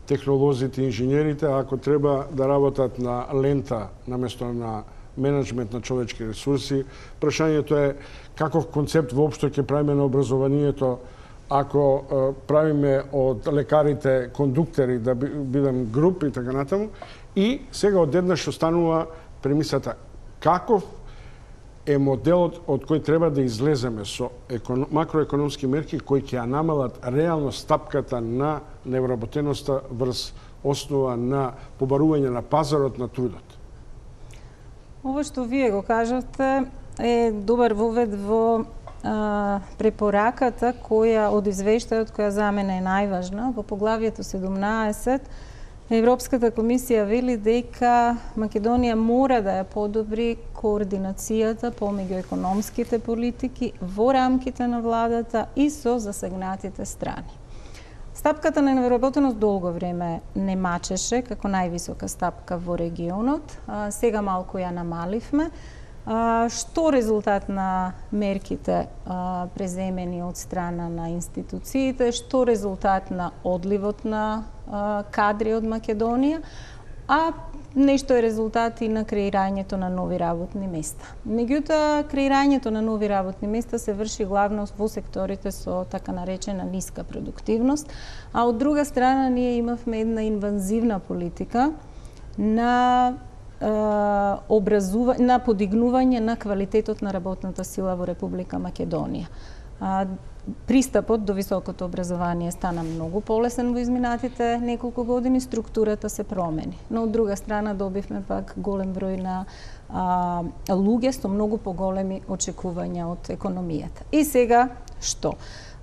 технолозите и инженерите, ако треба да работат на лента наместо на менеджмент на човечки ресурси. Прашањето е каков концепт воопшто ќе правиме на образованието, ако е, правиме од лекарите кондуктери да бидам груп и така натаму. И сега одеднаш останува премисата каков е моделот од кој треба да излеземе со економ... макроекономски мерки кои ќе ја намалат реално стапката на невработеноста врз основа на побарување на пазарот на трудот. Ова што вие го кажавте е добар вовед во а, препораката која од извештајот која за мене е најважна. Во поглавието седумнаесет Европската комисија вели дека Македонија мора да ја подобри координацијата помеѓу економските политики во рамките на владата и со засегнатите страни. Стапката на невработеност долго време не мачеше како највисока стапка во регионот. А, сега малку ја намаливме. А, што резултат на мерките а, преземени од страна на институциите, што резултат на одливот на а, кадри од Македонија, а нешто е резултат и на креирањето на нови работни места. Меѓутоа, креирањето на нови работни места се врши главно во секторите со така наречена ниска продуктивност, а од друга страна ние имавме една инвазивна политика на образува, на подигнување на квалитетот на работната сила во Република Македонија. Пристапот до високото образование стана многу полесен во изминатите неколку години, структурата се промени. Но од друга страна добивме пак голем број на а, луѓе со многу поголеми очекувања од економијата. И сега што?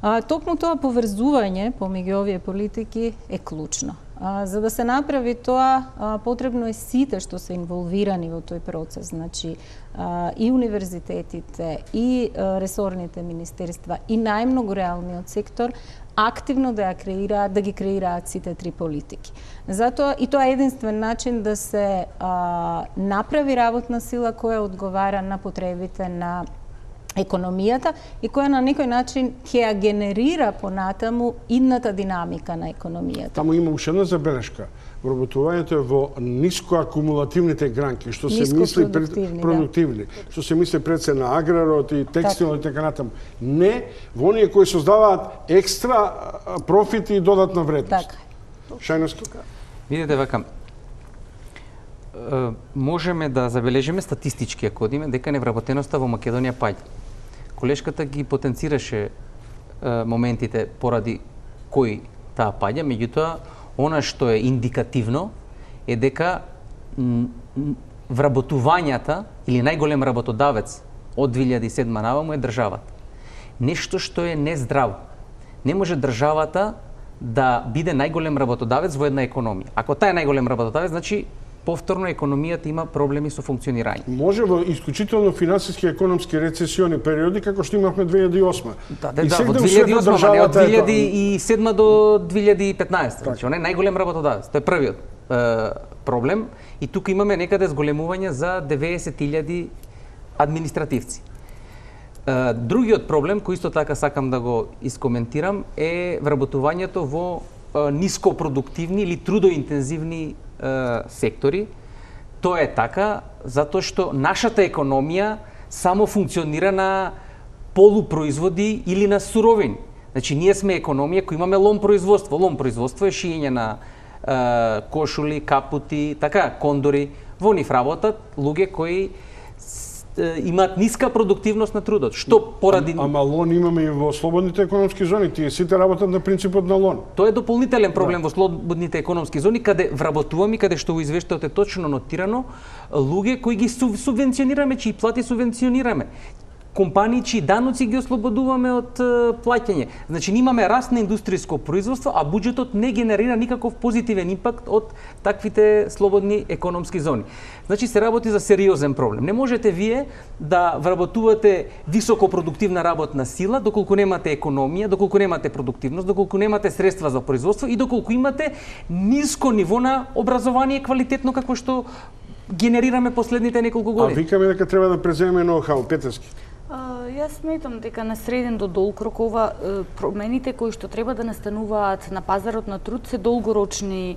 А, токму тоа поврзување помеѓу овие политики е клучно. А, за да се направи тоа, а, потребно е сите што се инволвирани во тој процес, значи а, и универзитетите, и а, ресорните министерства, и најмногу реалниот сектор, активно да ја креираат, да ги креираат сите три политики. Затоа и тоа е единствен начин да се а, направи работна сила која одговара на потребите на економијата и која на некој начин ќе ја генерира понатаму идната динамика на економијата. Таму има уште една забелешка. Вработувањето е во ниско акумулативните гранки, што се мисли пред продуктивни, да. Што се мисли пред се на аграрот и текстилот и така натаму. Не во оние кои создаваат екстра профит и додатна вредност. Така. Шајновски. Видете вака, можеме да забележиме статистички, ако одиме, дека невработеноста во Македонија паѓа. Колешката ги потенцираше моментите поради кои таа паѓа, меѓутоа, она што е индикативно е дека вработувањата или најголем работодавец од две илјади и седма наваму е државата. Нешто што е нездраво. Не може државата да биде најголем работодавец во една економија. Ако таа е најголем работодавец, значи повторно економијата има проблеми со функционирање. Може во исклучително финансиски економски рецесиони периоди како што имавме две илјади и осма. Да, да, да, во две илјади и осма, а не од две илјади и седма до две илјади и петнаесета. Значи, он е најголем работодавец. Тоа е првиот е, проблем. И тука имаме некаде зголемување за деветдесет илјади административци. Е, другиот проблем, кој исто така сакам да го искоментирам, е вработувањето во е, нископродуктивни или трудоинтензивни сектори. Тоа е така затоа што нашата економија само функционира на полупроизводи или на суровини. Значи ние сме економија која имаме лом производство. Лом производство е шиење на е, кошули, капути, така, кондори. Во нив работат луѓе кои имаат ниска продуктивност на трудот. Што поради... Ама лон имаме и во слободните економски зони. Тие сите работат на принципот на лон. Тоа е дополнителен проблем да. Во слободните економски зони, каде вработуваме, каде што во извештајот е точно нотирано, луѓе кои ги субвенционираме, чии плати субвенционираме. Компании чии даноци ги ослободуваме од плаќање. Значи, имаме раст на индустријско производство, а буџетот не генерира никаков позитивен импакт од таквите слободни економски зони. Значи, се работи за сериозен проблем. Не можете вие да вработувате високопродуктивна работна сила доколку немате економија, доколку немате продуктивност, доколку немате средства за производство и доколку имате ниско ниво на образование квалитетно како што генерираме последните неколку години. А викаме дека треба да преземеме ноу-хау, Петерски. Јас сметам дека на среден до долг рок ова промените кои што треба да настануваат на пазарот на труд се долгорочни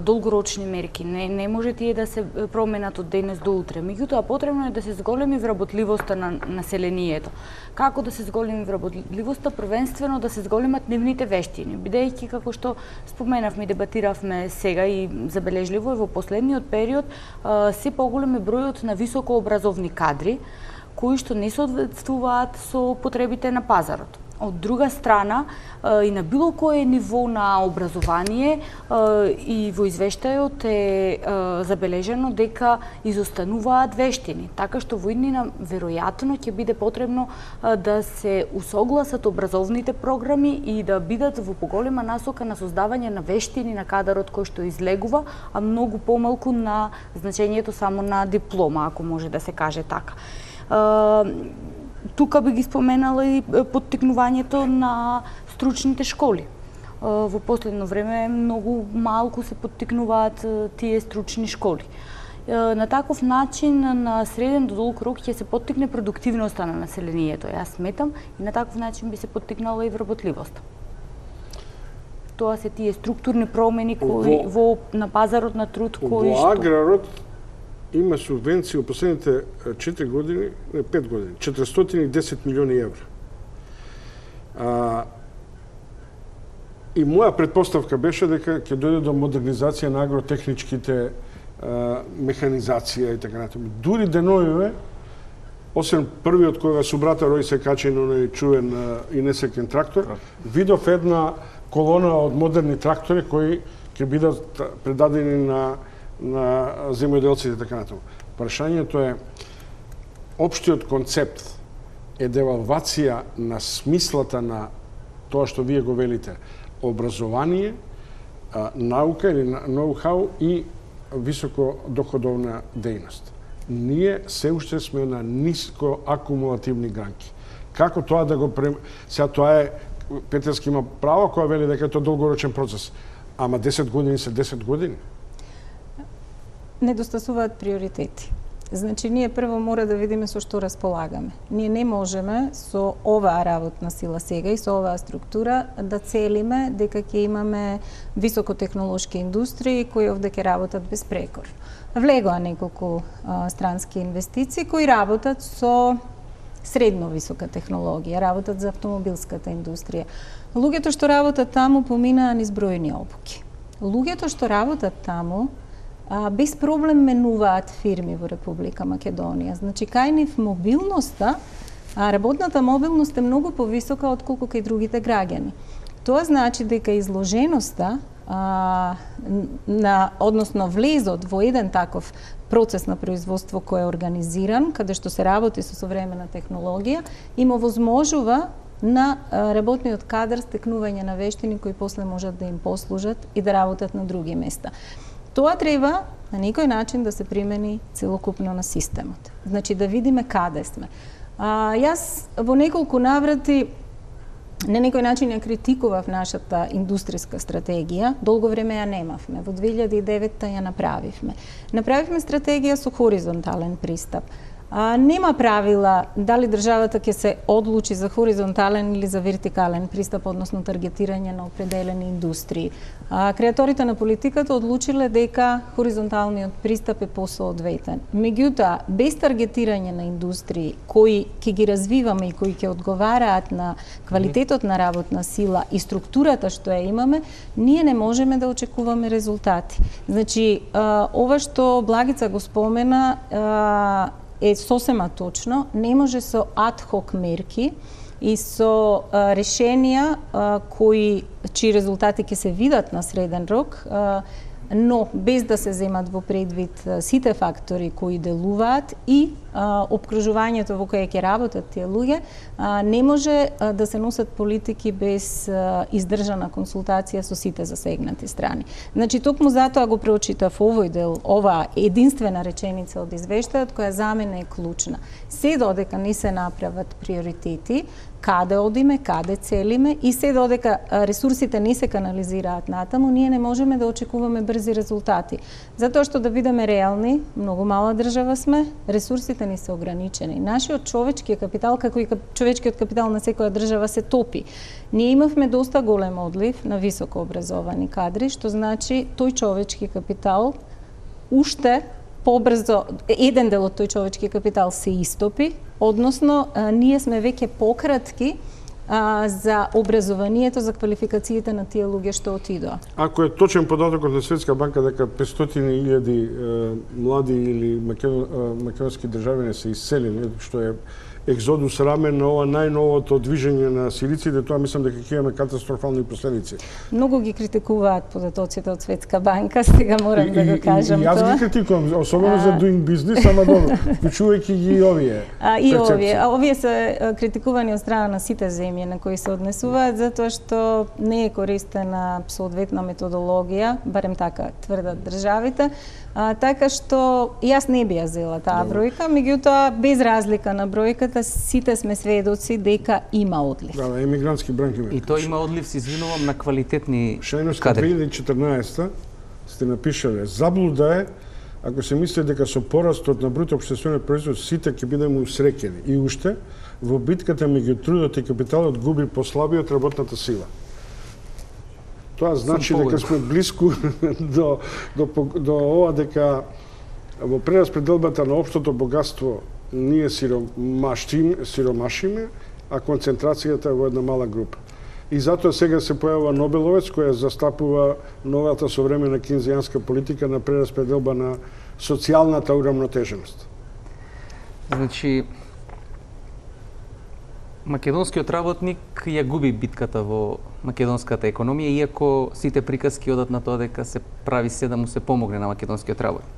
долгорочни мерки. Не не може тие да се променат од денес до утре. Меѓутоа потребно е да се зголеми вработливоста на населението. Како да се зголеми вработливоста? Првенствено да се зголемат нивните вештини, бидејќи како што споменавме и дебатиравме сега и забележливо е во последниот период се поголем е бројот на високообразовни кадри кои што не соодветствуваат со потребите на пазарот. Од друга страна, и на било кое ниво на образование и во извештајот е забележено дека изостануваат вештини, така што во иднина веројатно ќе биде потребно да се усогласат образовните програми и да бидат во поголема насока на создавање на вештини на кадарот кој што излегува, а многу помалку на значењето само на диплома, ако може да се каже така. Тука би ги споменала и поттикнувањето на стручните школи. Во последно време многу малку се поттикнуваат тие стручни школи. На таков начин на среден до долг рок ќе се поттикне продуктивноста на населението, јас сметам, и на таков начин би се поттикнала и вработливоста. тоа се тие структурни промени кои во, во на пазарот на труд кои во што аграрот има субвенции во последните четири години, не пет години, четиристотини и десет милиони евра. А, и моја предпоставка беше дека ќе дојде до модернизација на агротехничките а, механизација и така натаму. Дури деновиве, освен првиот кога субрата Рој се качи на оној чувен а, инесекен трактор, видов една колона од модерни трактори кои ќе бидат предадени на на земјоделците и така натаму. Прашањето е, општиот концепт е девалвација на смислата на тоа што вие го велите, образование, наука или ноу-хау и високодоходовна дејност. Ние се уште сме на ниско акумулативни гранки. Како тоа да го прем... Сега тоа е, Петерски има право која вели дека е тоа долгорочен процес, ама десет години се десет години. Недостасуваат приоритети. Значи, ние прво мора да видиме со што располагаме. Ние не можеме со оваа работна сила сега и со оваа структура да целиме дека ќе имаме високотехнолошки индустрии кои овде ќе работат без прекор. Влегоа неколку а, странски инвестиции кои работат со средно висока технологија, работат за автомобилската индустрија. Луѓето што работат таму поминаа низ бројни обуки. Луѓето што работат таму А, без проблем менуваат фирми во Република Македонија. Значи, кај нив мобилноста, а работната мобилност е многу повисока отколку кај другите граѓани. Тоа значи дека изложеноста а, на, односно влезот во еден таков процес на производство кој е организиран, каде што се работи со современа технологија, им овозможува на работниот кадар стекнување на вештини кои после можат да им послужат и да работат на други места. Тоа треба на некој начин да се примени целокупно на системот. Значи да видиме каде сме. А, јас во неколку наврати на некој начин ја критикував нашата индустријска стратегија. Долго време ја немавме. Во две илјади и девета ја направивме. Направивме стратегија со хоризонтален пристап. А, нема правила дали државата ќе се одлучи за хоризонтален или за вертикален пристап, односно таргетирање на определени индустрии. А, креаторите на политиката одлучиле дека хоризонталниот пристап е посоодветен. Меѓутоа, без таргетирање на индустрии кои ќе ги развиваме и кои ќе одговараат на квалитетот на работна сила и структурата што ја имаме, ние не можеме да очекуваме резултати. Значи, а, ова што Благица го спомена, а, е сосема точно, не може со ад-хок мерки и со а, решенија а, кои чии резултати ќе се видат на среден рок, а, но без да се земат во предвид сите фактори кои делуваат и а, обкружувањето во кое ќе работат тие луѓе, а, не може а, да се носат политики без а, издржана консултација со сите засегнати страни. Значи, токму затоа го преочитав овој дел, оваа единствена реченица од извештајот, која за мене е клучна. Се додека не се направат приоритети, каде одиме, каде целиме и се додека ресурсите не се канализираат натаму, ние не можеме да очекуваме брзи резултати. Затоа што да бидеме реални, многу мала држава сме, ресурсите ни се ограничени. Нашиот човечки капитал, како и човечкиот капитал на секоја држава, се топи. Ние имавме доста голем одлив на високо образовани кадри, што значи тој човечки капитал уште побрзо, еден дел од тој човечки капитал се истопи, односно а, ние сме веќе пократки а, за образованието, за квалификациите на тие луѓе што отидоа. Ако е точен податокот на Светска банка дека петстотини илјади млади или македонски државјани се иселени, што е екзодус рамен на ова најновото движење на сириците, тоа мислам дека ќе имаме катастрофални последици. Многу ги критикуваат податоците од Светска банка, сега морам и, да го кажам и, и, тоа. Јас ги критикувам, особено а... за doing business, ама добро, вклучувајќи ги и овие. А, и овие, а овие се критикувани од страна на сите земји на кои се однесуваат, затоа што не е користена соодветна методологија, барем така тврдат државите. А, така што јас не би ја зела таа бројка, меѓутоа без разлика на бројката сите сме сведоци дека има одлив. Да, емигрантски бранки. И тоа има одлив, се извинувам, на квалитетни Шајност кадри. две илјади и четрнаесета сте напишале, заблуда е ако се мисли дека со порастот на бруто општествен производ сите ќе бидеме усреќени. И уште, во битката меѓу трудот и капиталот губи послабиот работната сила. Тоа значи дека сме блиску до, до, до ова дека во прераспределбата на општото богатство ние сиромашиме, сиромашиме, а концентрацијата е во една мала група. И затоа сега се појавува Нобеловец која застапува новата современа кейнзијанска политика на прераспределба на социјалната урамнотеженост. Значи, македонскиот работник ја губи битката во македонската економија, иако сите приказки одат на тоа дека се прави се да му се помогне на македонскиот работник.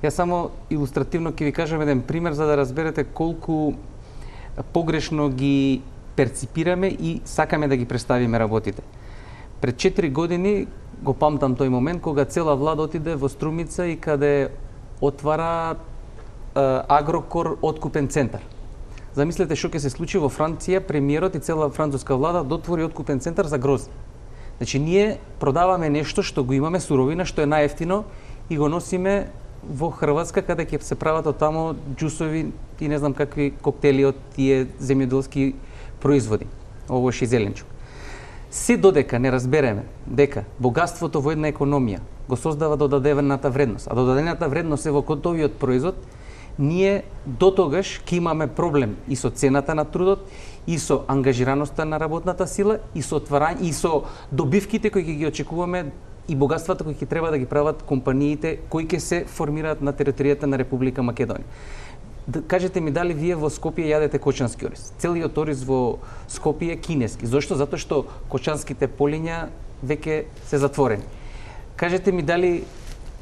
Јас само илустративно ќе ви кажам еден пример за да разберете колку погрешно ги перципираме и сакаме да ги представиме работите. Пред четири години го памтам тој момент кога цела влада отиде во Струмица и каде отвара Агрокор откупен центар. Замислете што ќе се случи во Франција, премиерот и цела француска влада дотвори откупен центар за грозде. Значи ние продаваме нешто што го имаме суровина, што е најевтино и го носиме во Хрватска каде ќе се прават од тамо џусови и не знам какви коктели од тие земјоделски производи, овош и зеленчук. Се додека не разбереме дека богатството во една економија го создава додадената вредност, а додадената вредност е во готовиот производ, ние дотогаш ќе имаме проблем и со цената на трудот, и со ангажираноста на работната сила, и со отварање, и со добивките кои ќе ги очекуваме и богатствата кои ќе треба да ги прават компаниите кои ќе се формираат на територијата на Република Македонија. Кажете ми дали вие во Скопје јадете кочански ориз? Целиот ориз во Скопје е кинески. Зошто? Затоа што кочанските полиња веќе се затворени. Кажете ми дали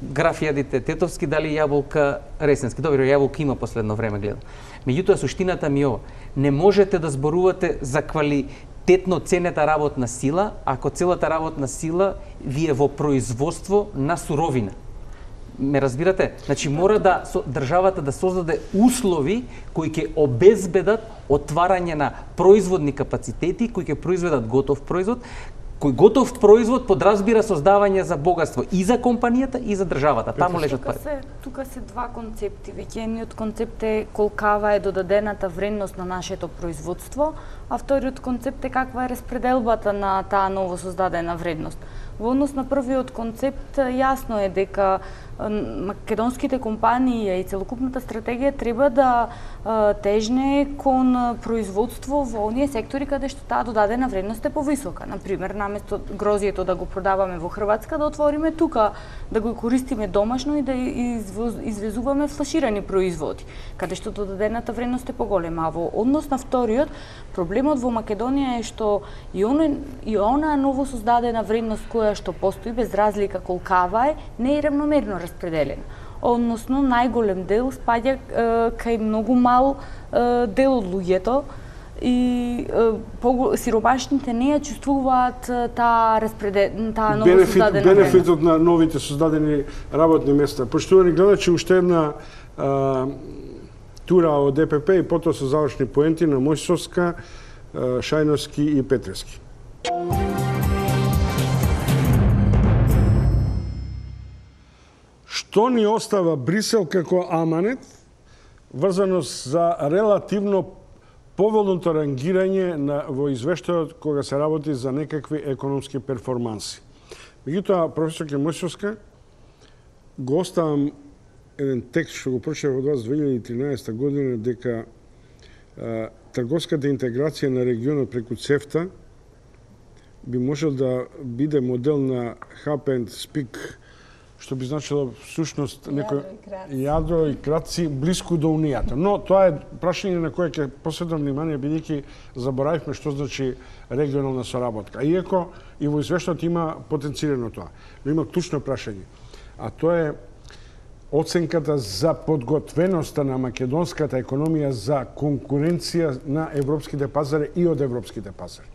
граф јадите тетовски, дали јаболка ресенски. Добро, јаболка има последно време гледам. Меѓутоа суштината ми е ова. Не можете да зборувате за квалитетно ценета работна сила ако целата работна сила ви е во производство на суровина. Ме разбирате? Значи мора да со, државата да создаде услови кои ќе обезбедат отварање на производни капацитети, кои ќе произведат готов производ, кој готов производ подразбира создавање за богатство и за компанијата и за државата. Таму лежат пари. Тука се, тука се два концепти. Веќе едниот концепт е колкава е додадената вредност на нашето производство, а вториот концепт е каква е распределбата на таа ново создадена вредност. Во однос на првиот концепт, јасно е дека македонските компании и целокупната стратегија треба да тежне кон производство во оние сектори каде што таа додадена вредност е повисока. Например, наместо грозието да го продаваме во Хрватска, да отвориме тука, да го користиме домашно и да извезуваме флаширани производи, каде што додадената вредност е поголема. А во однос на вториот, проблемот во Македонија е што и она, и она ново создадена вредност која што постои без разлика колкава е, не е равномерно распределена. Односно, најголем дел спаѓа е, кај многу мал е, дел од луѓето и е, сиромашните не ја чувствуваат таа распределена, таа ново Бенефит, создадена бенефитот на новите создадени работни места. Поштовани гледачи, уште една а, тура од Д П П и потоа со завршни поенти на Мојсовска, Шајновски и Петревски. Што ни остава Брисел како аманет врзано за релативно поволното рангирање на, во извештајот кога се работи за некакви економски перформанси. Меѓутоа, професор Мојсовска, го оставам еден текст што го прочитав од вас две илјади и тринаесетта година дека а, трговската интеграција на регионот преку ЦЕФТА би можел да биде модел на Hub and Speak, што би значило всушност некој јадро и кратци блиску до унијата. Но тоа е прашање на кое ќе посветам внимание, бидејќи заборавивме што значи регионална соработка. Иако и во извештајот има потенцирано тоа, но има клучно прашање. А тоа е оценката за подготвеноста на македонската економија за конкуренција на европските пазари и од европските пазари.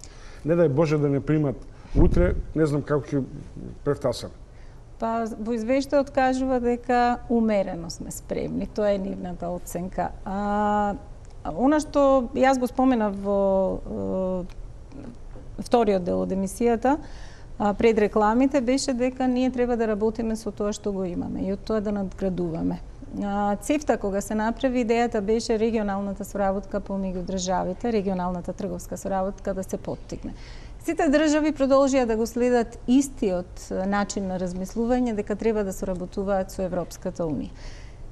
Не дај Боже да не примат утре, не знам како ќе превтасаме. Па, во извештајот кажува дека умерено сме спремни. Тоа е нивната оценка. А, она што јас го споменав во е, вториот дел од емисијата, а, пред рекламите, беше дека ние треба да работиме со тоа што го имаме и од тоа да надградуваме. ЦЕФТА, кога се направи, идејата беше регионалната соработка помеѓу државите, регионалната трговска соработка да се поттикне. Сите држави продолжија да го следат истиот начин на размислување дека треба да соработуваат со Европската унија.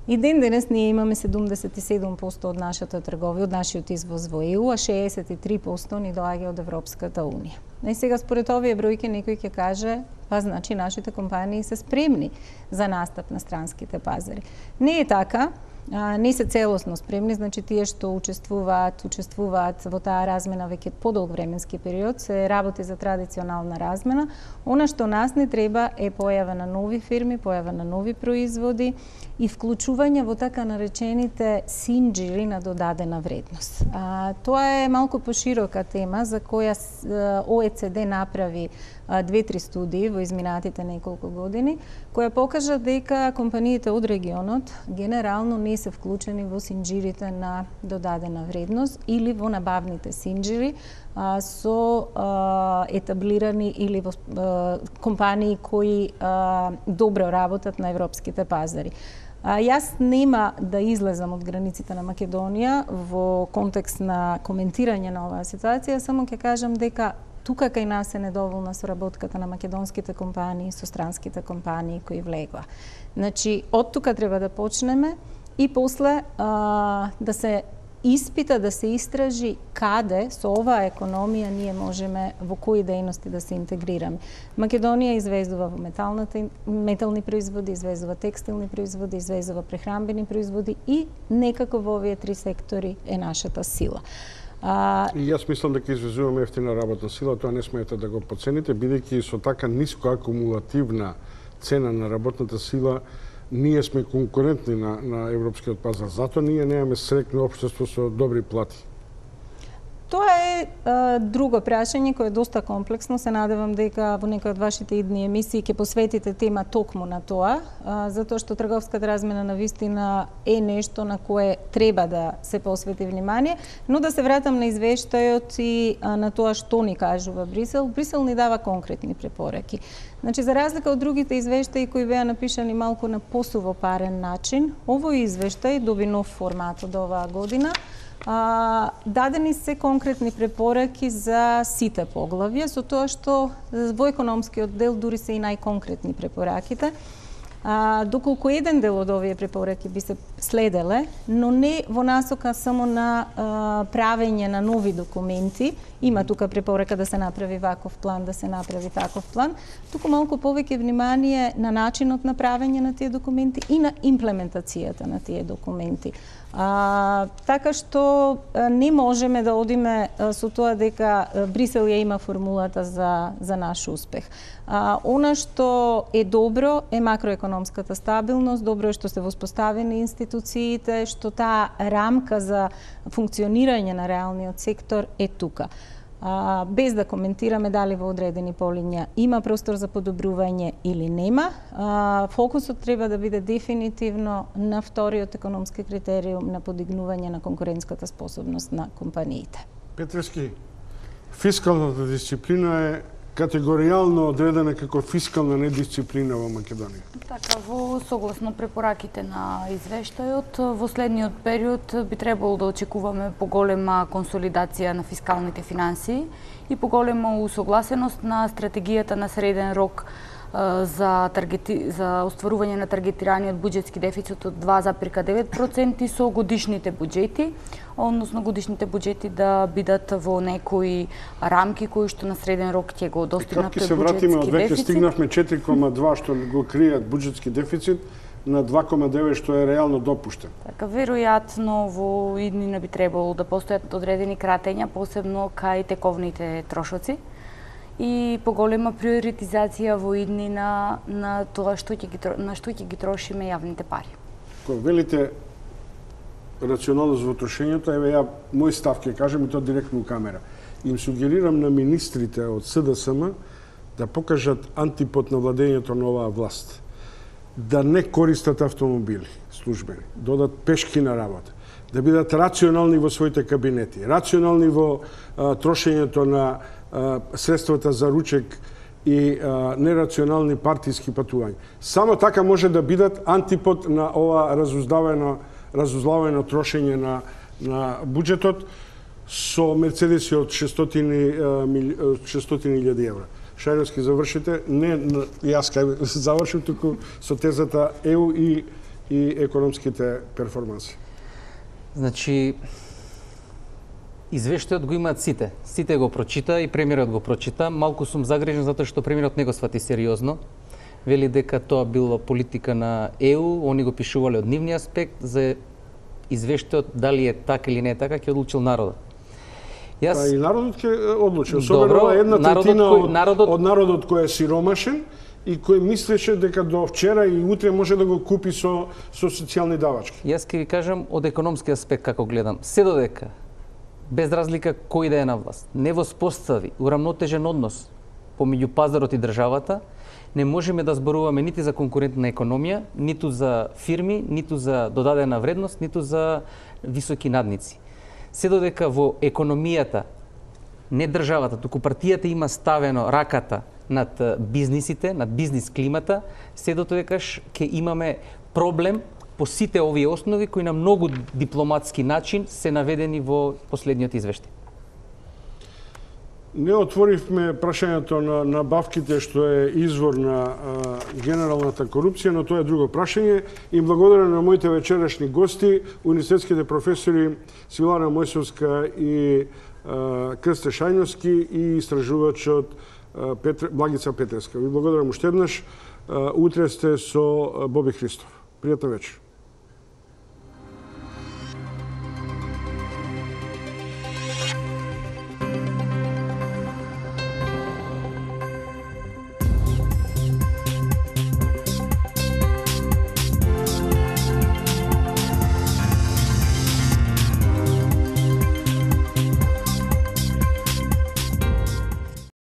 И ден денес ние имаме седумдесет и седум проценти од нашата трговија, од нашиот извоз во Е У, а шеесет и три проценти ни доаѓа од Европската унија. И сега според овие бројки некој ќе каже, па значи нашите компании се спремни за настап на странските пазари. Не е така. А, не се целосно спремни, значи тие што учествуваат, учествуваат во таа размена веќе подолг временски период, се работи за традиционална размена. Она што нас не треба е појава на нови фирми, појава на нови производи и вклучување во така наречените синџири на додадена вредност. А, тоа е малку поширока тема за која О Е Це Де направи две-три студии во изминатите неколку години, која покажа дека компаниите од регионот генерално не се вклучени во синџирите на додадена вредност или во набавните синџири а, со а, етаблирани или во а, компании кои а, добро работат на европските пазари. А, јас нема да излезам од границите на Македонија во контекст на коментирање на оваа ситуација, само ќе кажам дека тука кај нас е недоволна соработката на македонските компании со странските компании кои влегува. Значи, од тука треба да почнеме и после а, да се испита, да се истражи каде со оваа економија ние можеме во кои дејности да се интегрираме. Македонија извезува во металната, метални производи, извезува текстилни производи, извезува прехранбени производи и некако во овие три сектори е нашата сила. А... И јас мислам дека извезуваме ефтина работна сила, тоа не смеете да го подцените, бидејќи со така ниско акумулативна цена на работната сила, ние сме конкурентни на, на европскиот пазар. Затоа ние немаме среќно општество со добри плати. Тоа е а, друго прашање кое е доста комплексно. Се надевам дека во некој од вашите идни емисии ќе посветите тема токму на тоа, а, затоа што трговската размена на вистина е нешто на кое треба да се посвети внимание, но да се вратам на извештајот и а, на тоа што ни кажува Брисел. Брисел ни дава конкретни препораки. Значи, за разлика од другите извештаи кои беа напишани малку на посувопарен начин, овој извештај доби нов формат од оваа година. А, дадени се конкретни препораки за сите поглавја, со тоа што во економскиот дел дури се и најконкретни препораките. А, доколку еден дел од овие препораки би се следеле, но не во насока само на а, правење на нови документи, има тука препорака да се направи ваков план, да се направи таков план, туку малку повеќе внимание на начинот на правење на тие документи и на имплементацијата на тие документи. А, така што а, не можеме да одиме а, со тоа дека а, Брисел ја има формулата за, за наш успех. А, она што е добро е макроекономската стабилност, добро е што се воспоставени институциите, што таа рамка за функционирање на реалниот сектор е тука. А, без да коментираме дали во одредени полиња има простор за подобрување или нема, а, фокусот треба да биде дефинитивно на вториот економски критериум на подигнување на конкурентската способност на компаниите. Петрески, фискалната дисциплина е категоријално одредена како фискална недисциплина во Македонија. Така, во согласно препораките на извештајот, во следниот период би требало да очекуваме поголема консолидација на фискалните финансии и поголема усогласеност на стратегијата на среден рок за, таргети, за остварување на таргетираниот буџетски дефицит од два зарез девет проценти со годишните буџети, односно годишните буџети да бидат во некои рамки кои што на среден рок ќе го достигнат тој буџетски дефицит. Како ќе се вратиме од веќе стигнавме четири кома два што го кријат буџетски дефицит на два кома девет што е реално допуштен. Така, веројатно во иднина би требало да постојат одредени кратења, посебно кај тековните трошоци и поголема приоритизација во иднина на тоа што ќе ги на што ќе ги трошиме јавните пари. Кога велите рационалност во трошењето, еве ја мој став ќе кажам и тоа директно у камера. Им сугерирам на министрите од С Д С М да покажат антипод на владењето на оваа власт. Да не користат автомобили службени, да одат пешки на работа, да бидат рационални во своите кабинети, рационални во а, трошењето на а, средствата за ручек и а, нерационални партиски патувања. Само така може да бидат антипод на ова разуздавено, разузлавено трошење на, на буџетот, со мерцедеси од шестстотини илјади евра. Шајновски, завршите, не јас кај завршив, туку со тезата Е У и, и економските перформанси. Значи, извештајот го имаат сите. Сите го прочита и премиерот го прочита. Малку сум загрижен затоа што премиерот не го свати сериозно. Вели дека тоа било политика на Е У, они го пишувале од нивни аспект, за извештајот дали е така или не е така, ќе одлучил народот. Јас... Па и народот ќе одлучи, особено ова една третина кој, од народот... од народот кој е сиромашен и кој мислеше дека до вчера и утре може да го купи со, со социјални давачки. Јас ќе ви кажам од економски аспект како гледам. Се додека, без разлика кој да е на власт, не воспостави урамнотежен однос помеѓу пазарот и државата, не можеме да зборуваме нити за конкурентна економија, ниту за фирми, ниту за додадена вредност, ниту за високи надници. Се додека во економијата, не државата, туку партијата има ставено раката над бизнисите, над бизнис климата, се додекаш ќе имаме проблем по сите овие основи кои на многу дипломатски начин се наведени во последниот извештај. Не отворивме прашањето на набавките, што е извор на а, генералната корупција, но тоа е друго прашање. И благодарам на моите вечерашни гости, универзитетските професори Силана Мојсовска и а, Крсте Шајновски и истражувачот а, Петр... Благица Петревска. Ви благодарам уште еднаш. Утре сте со Боби Христов. Пријатна вечер.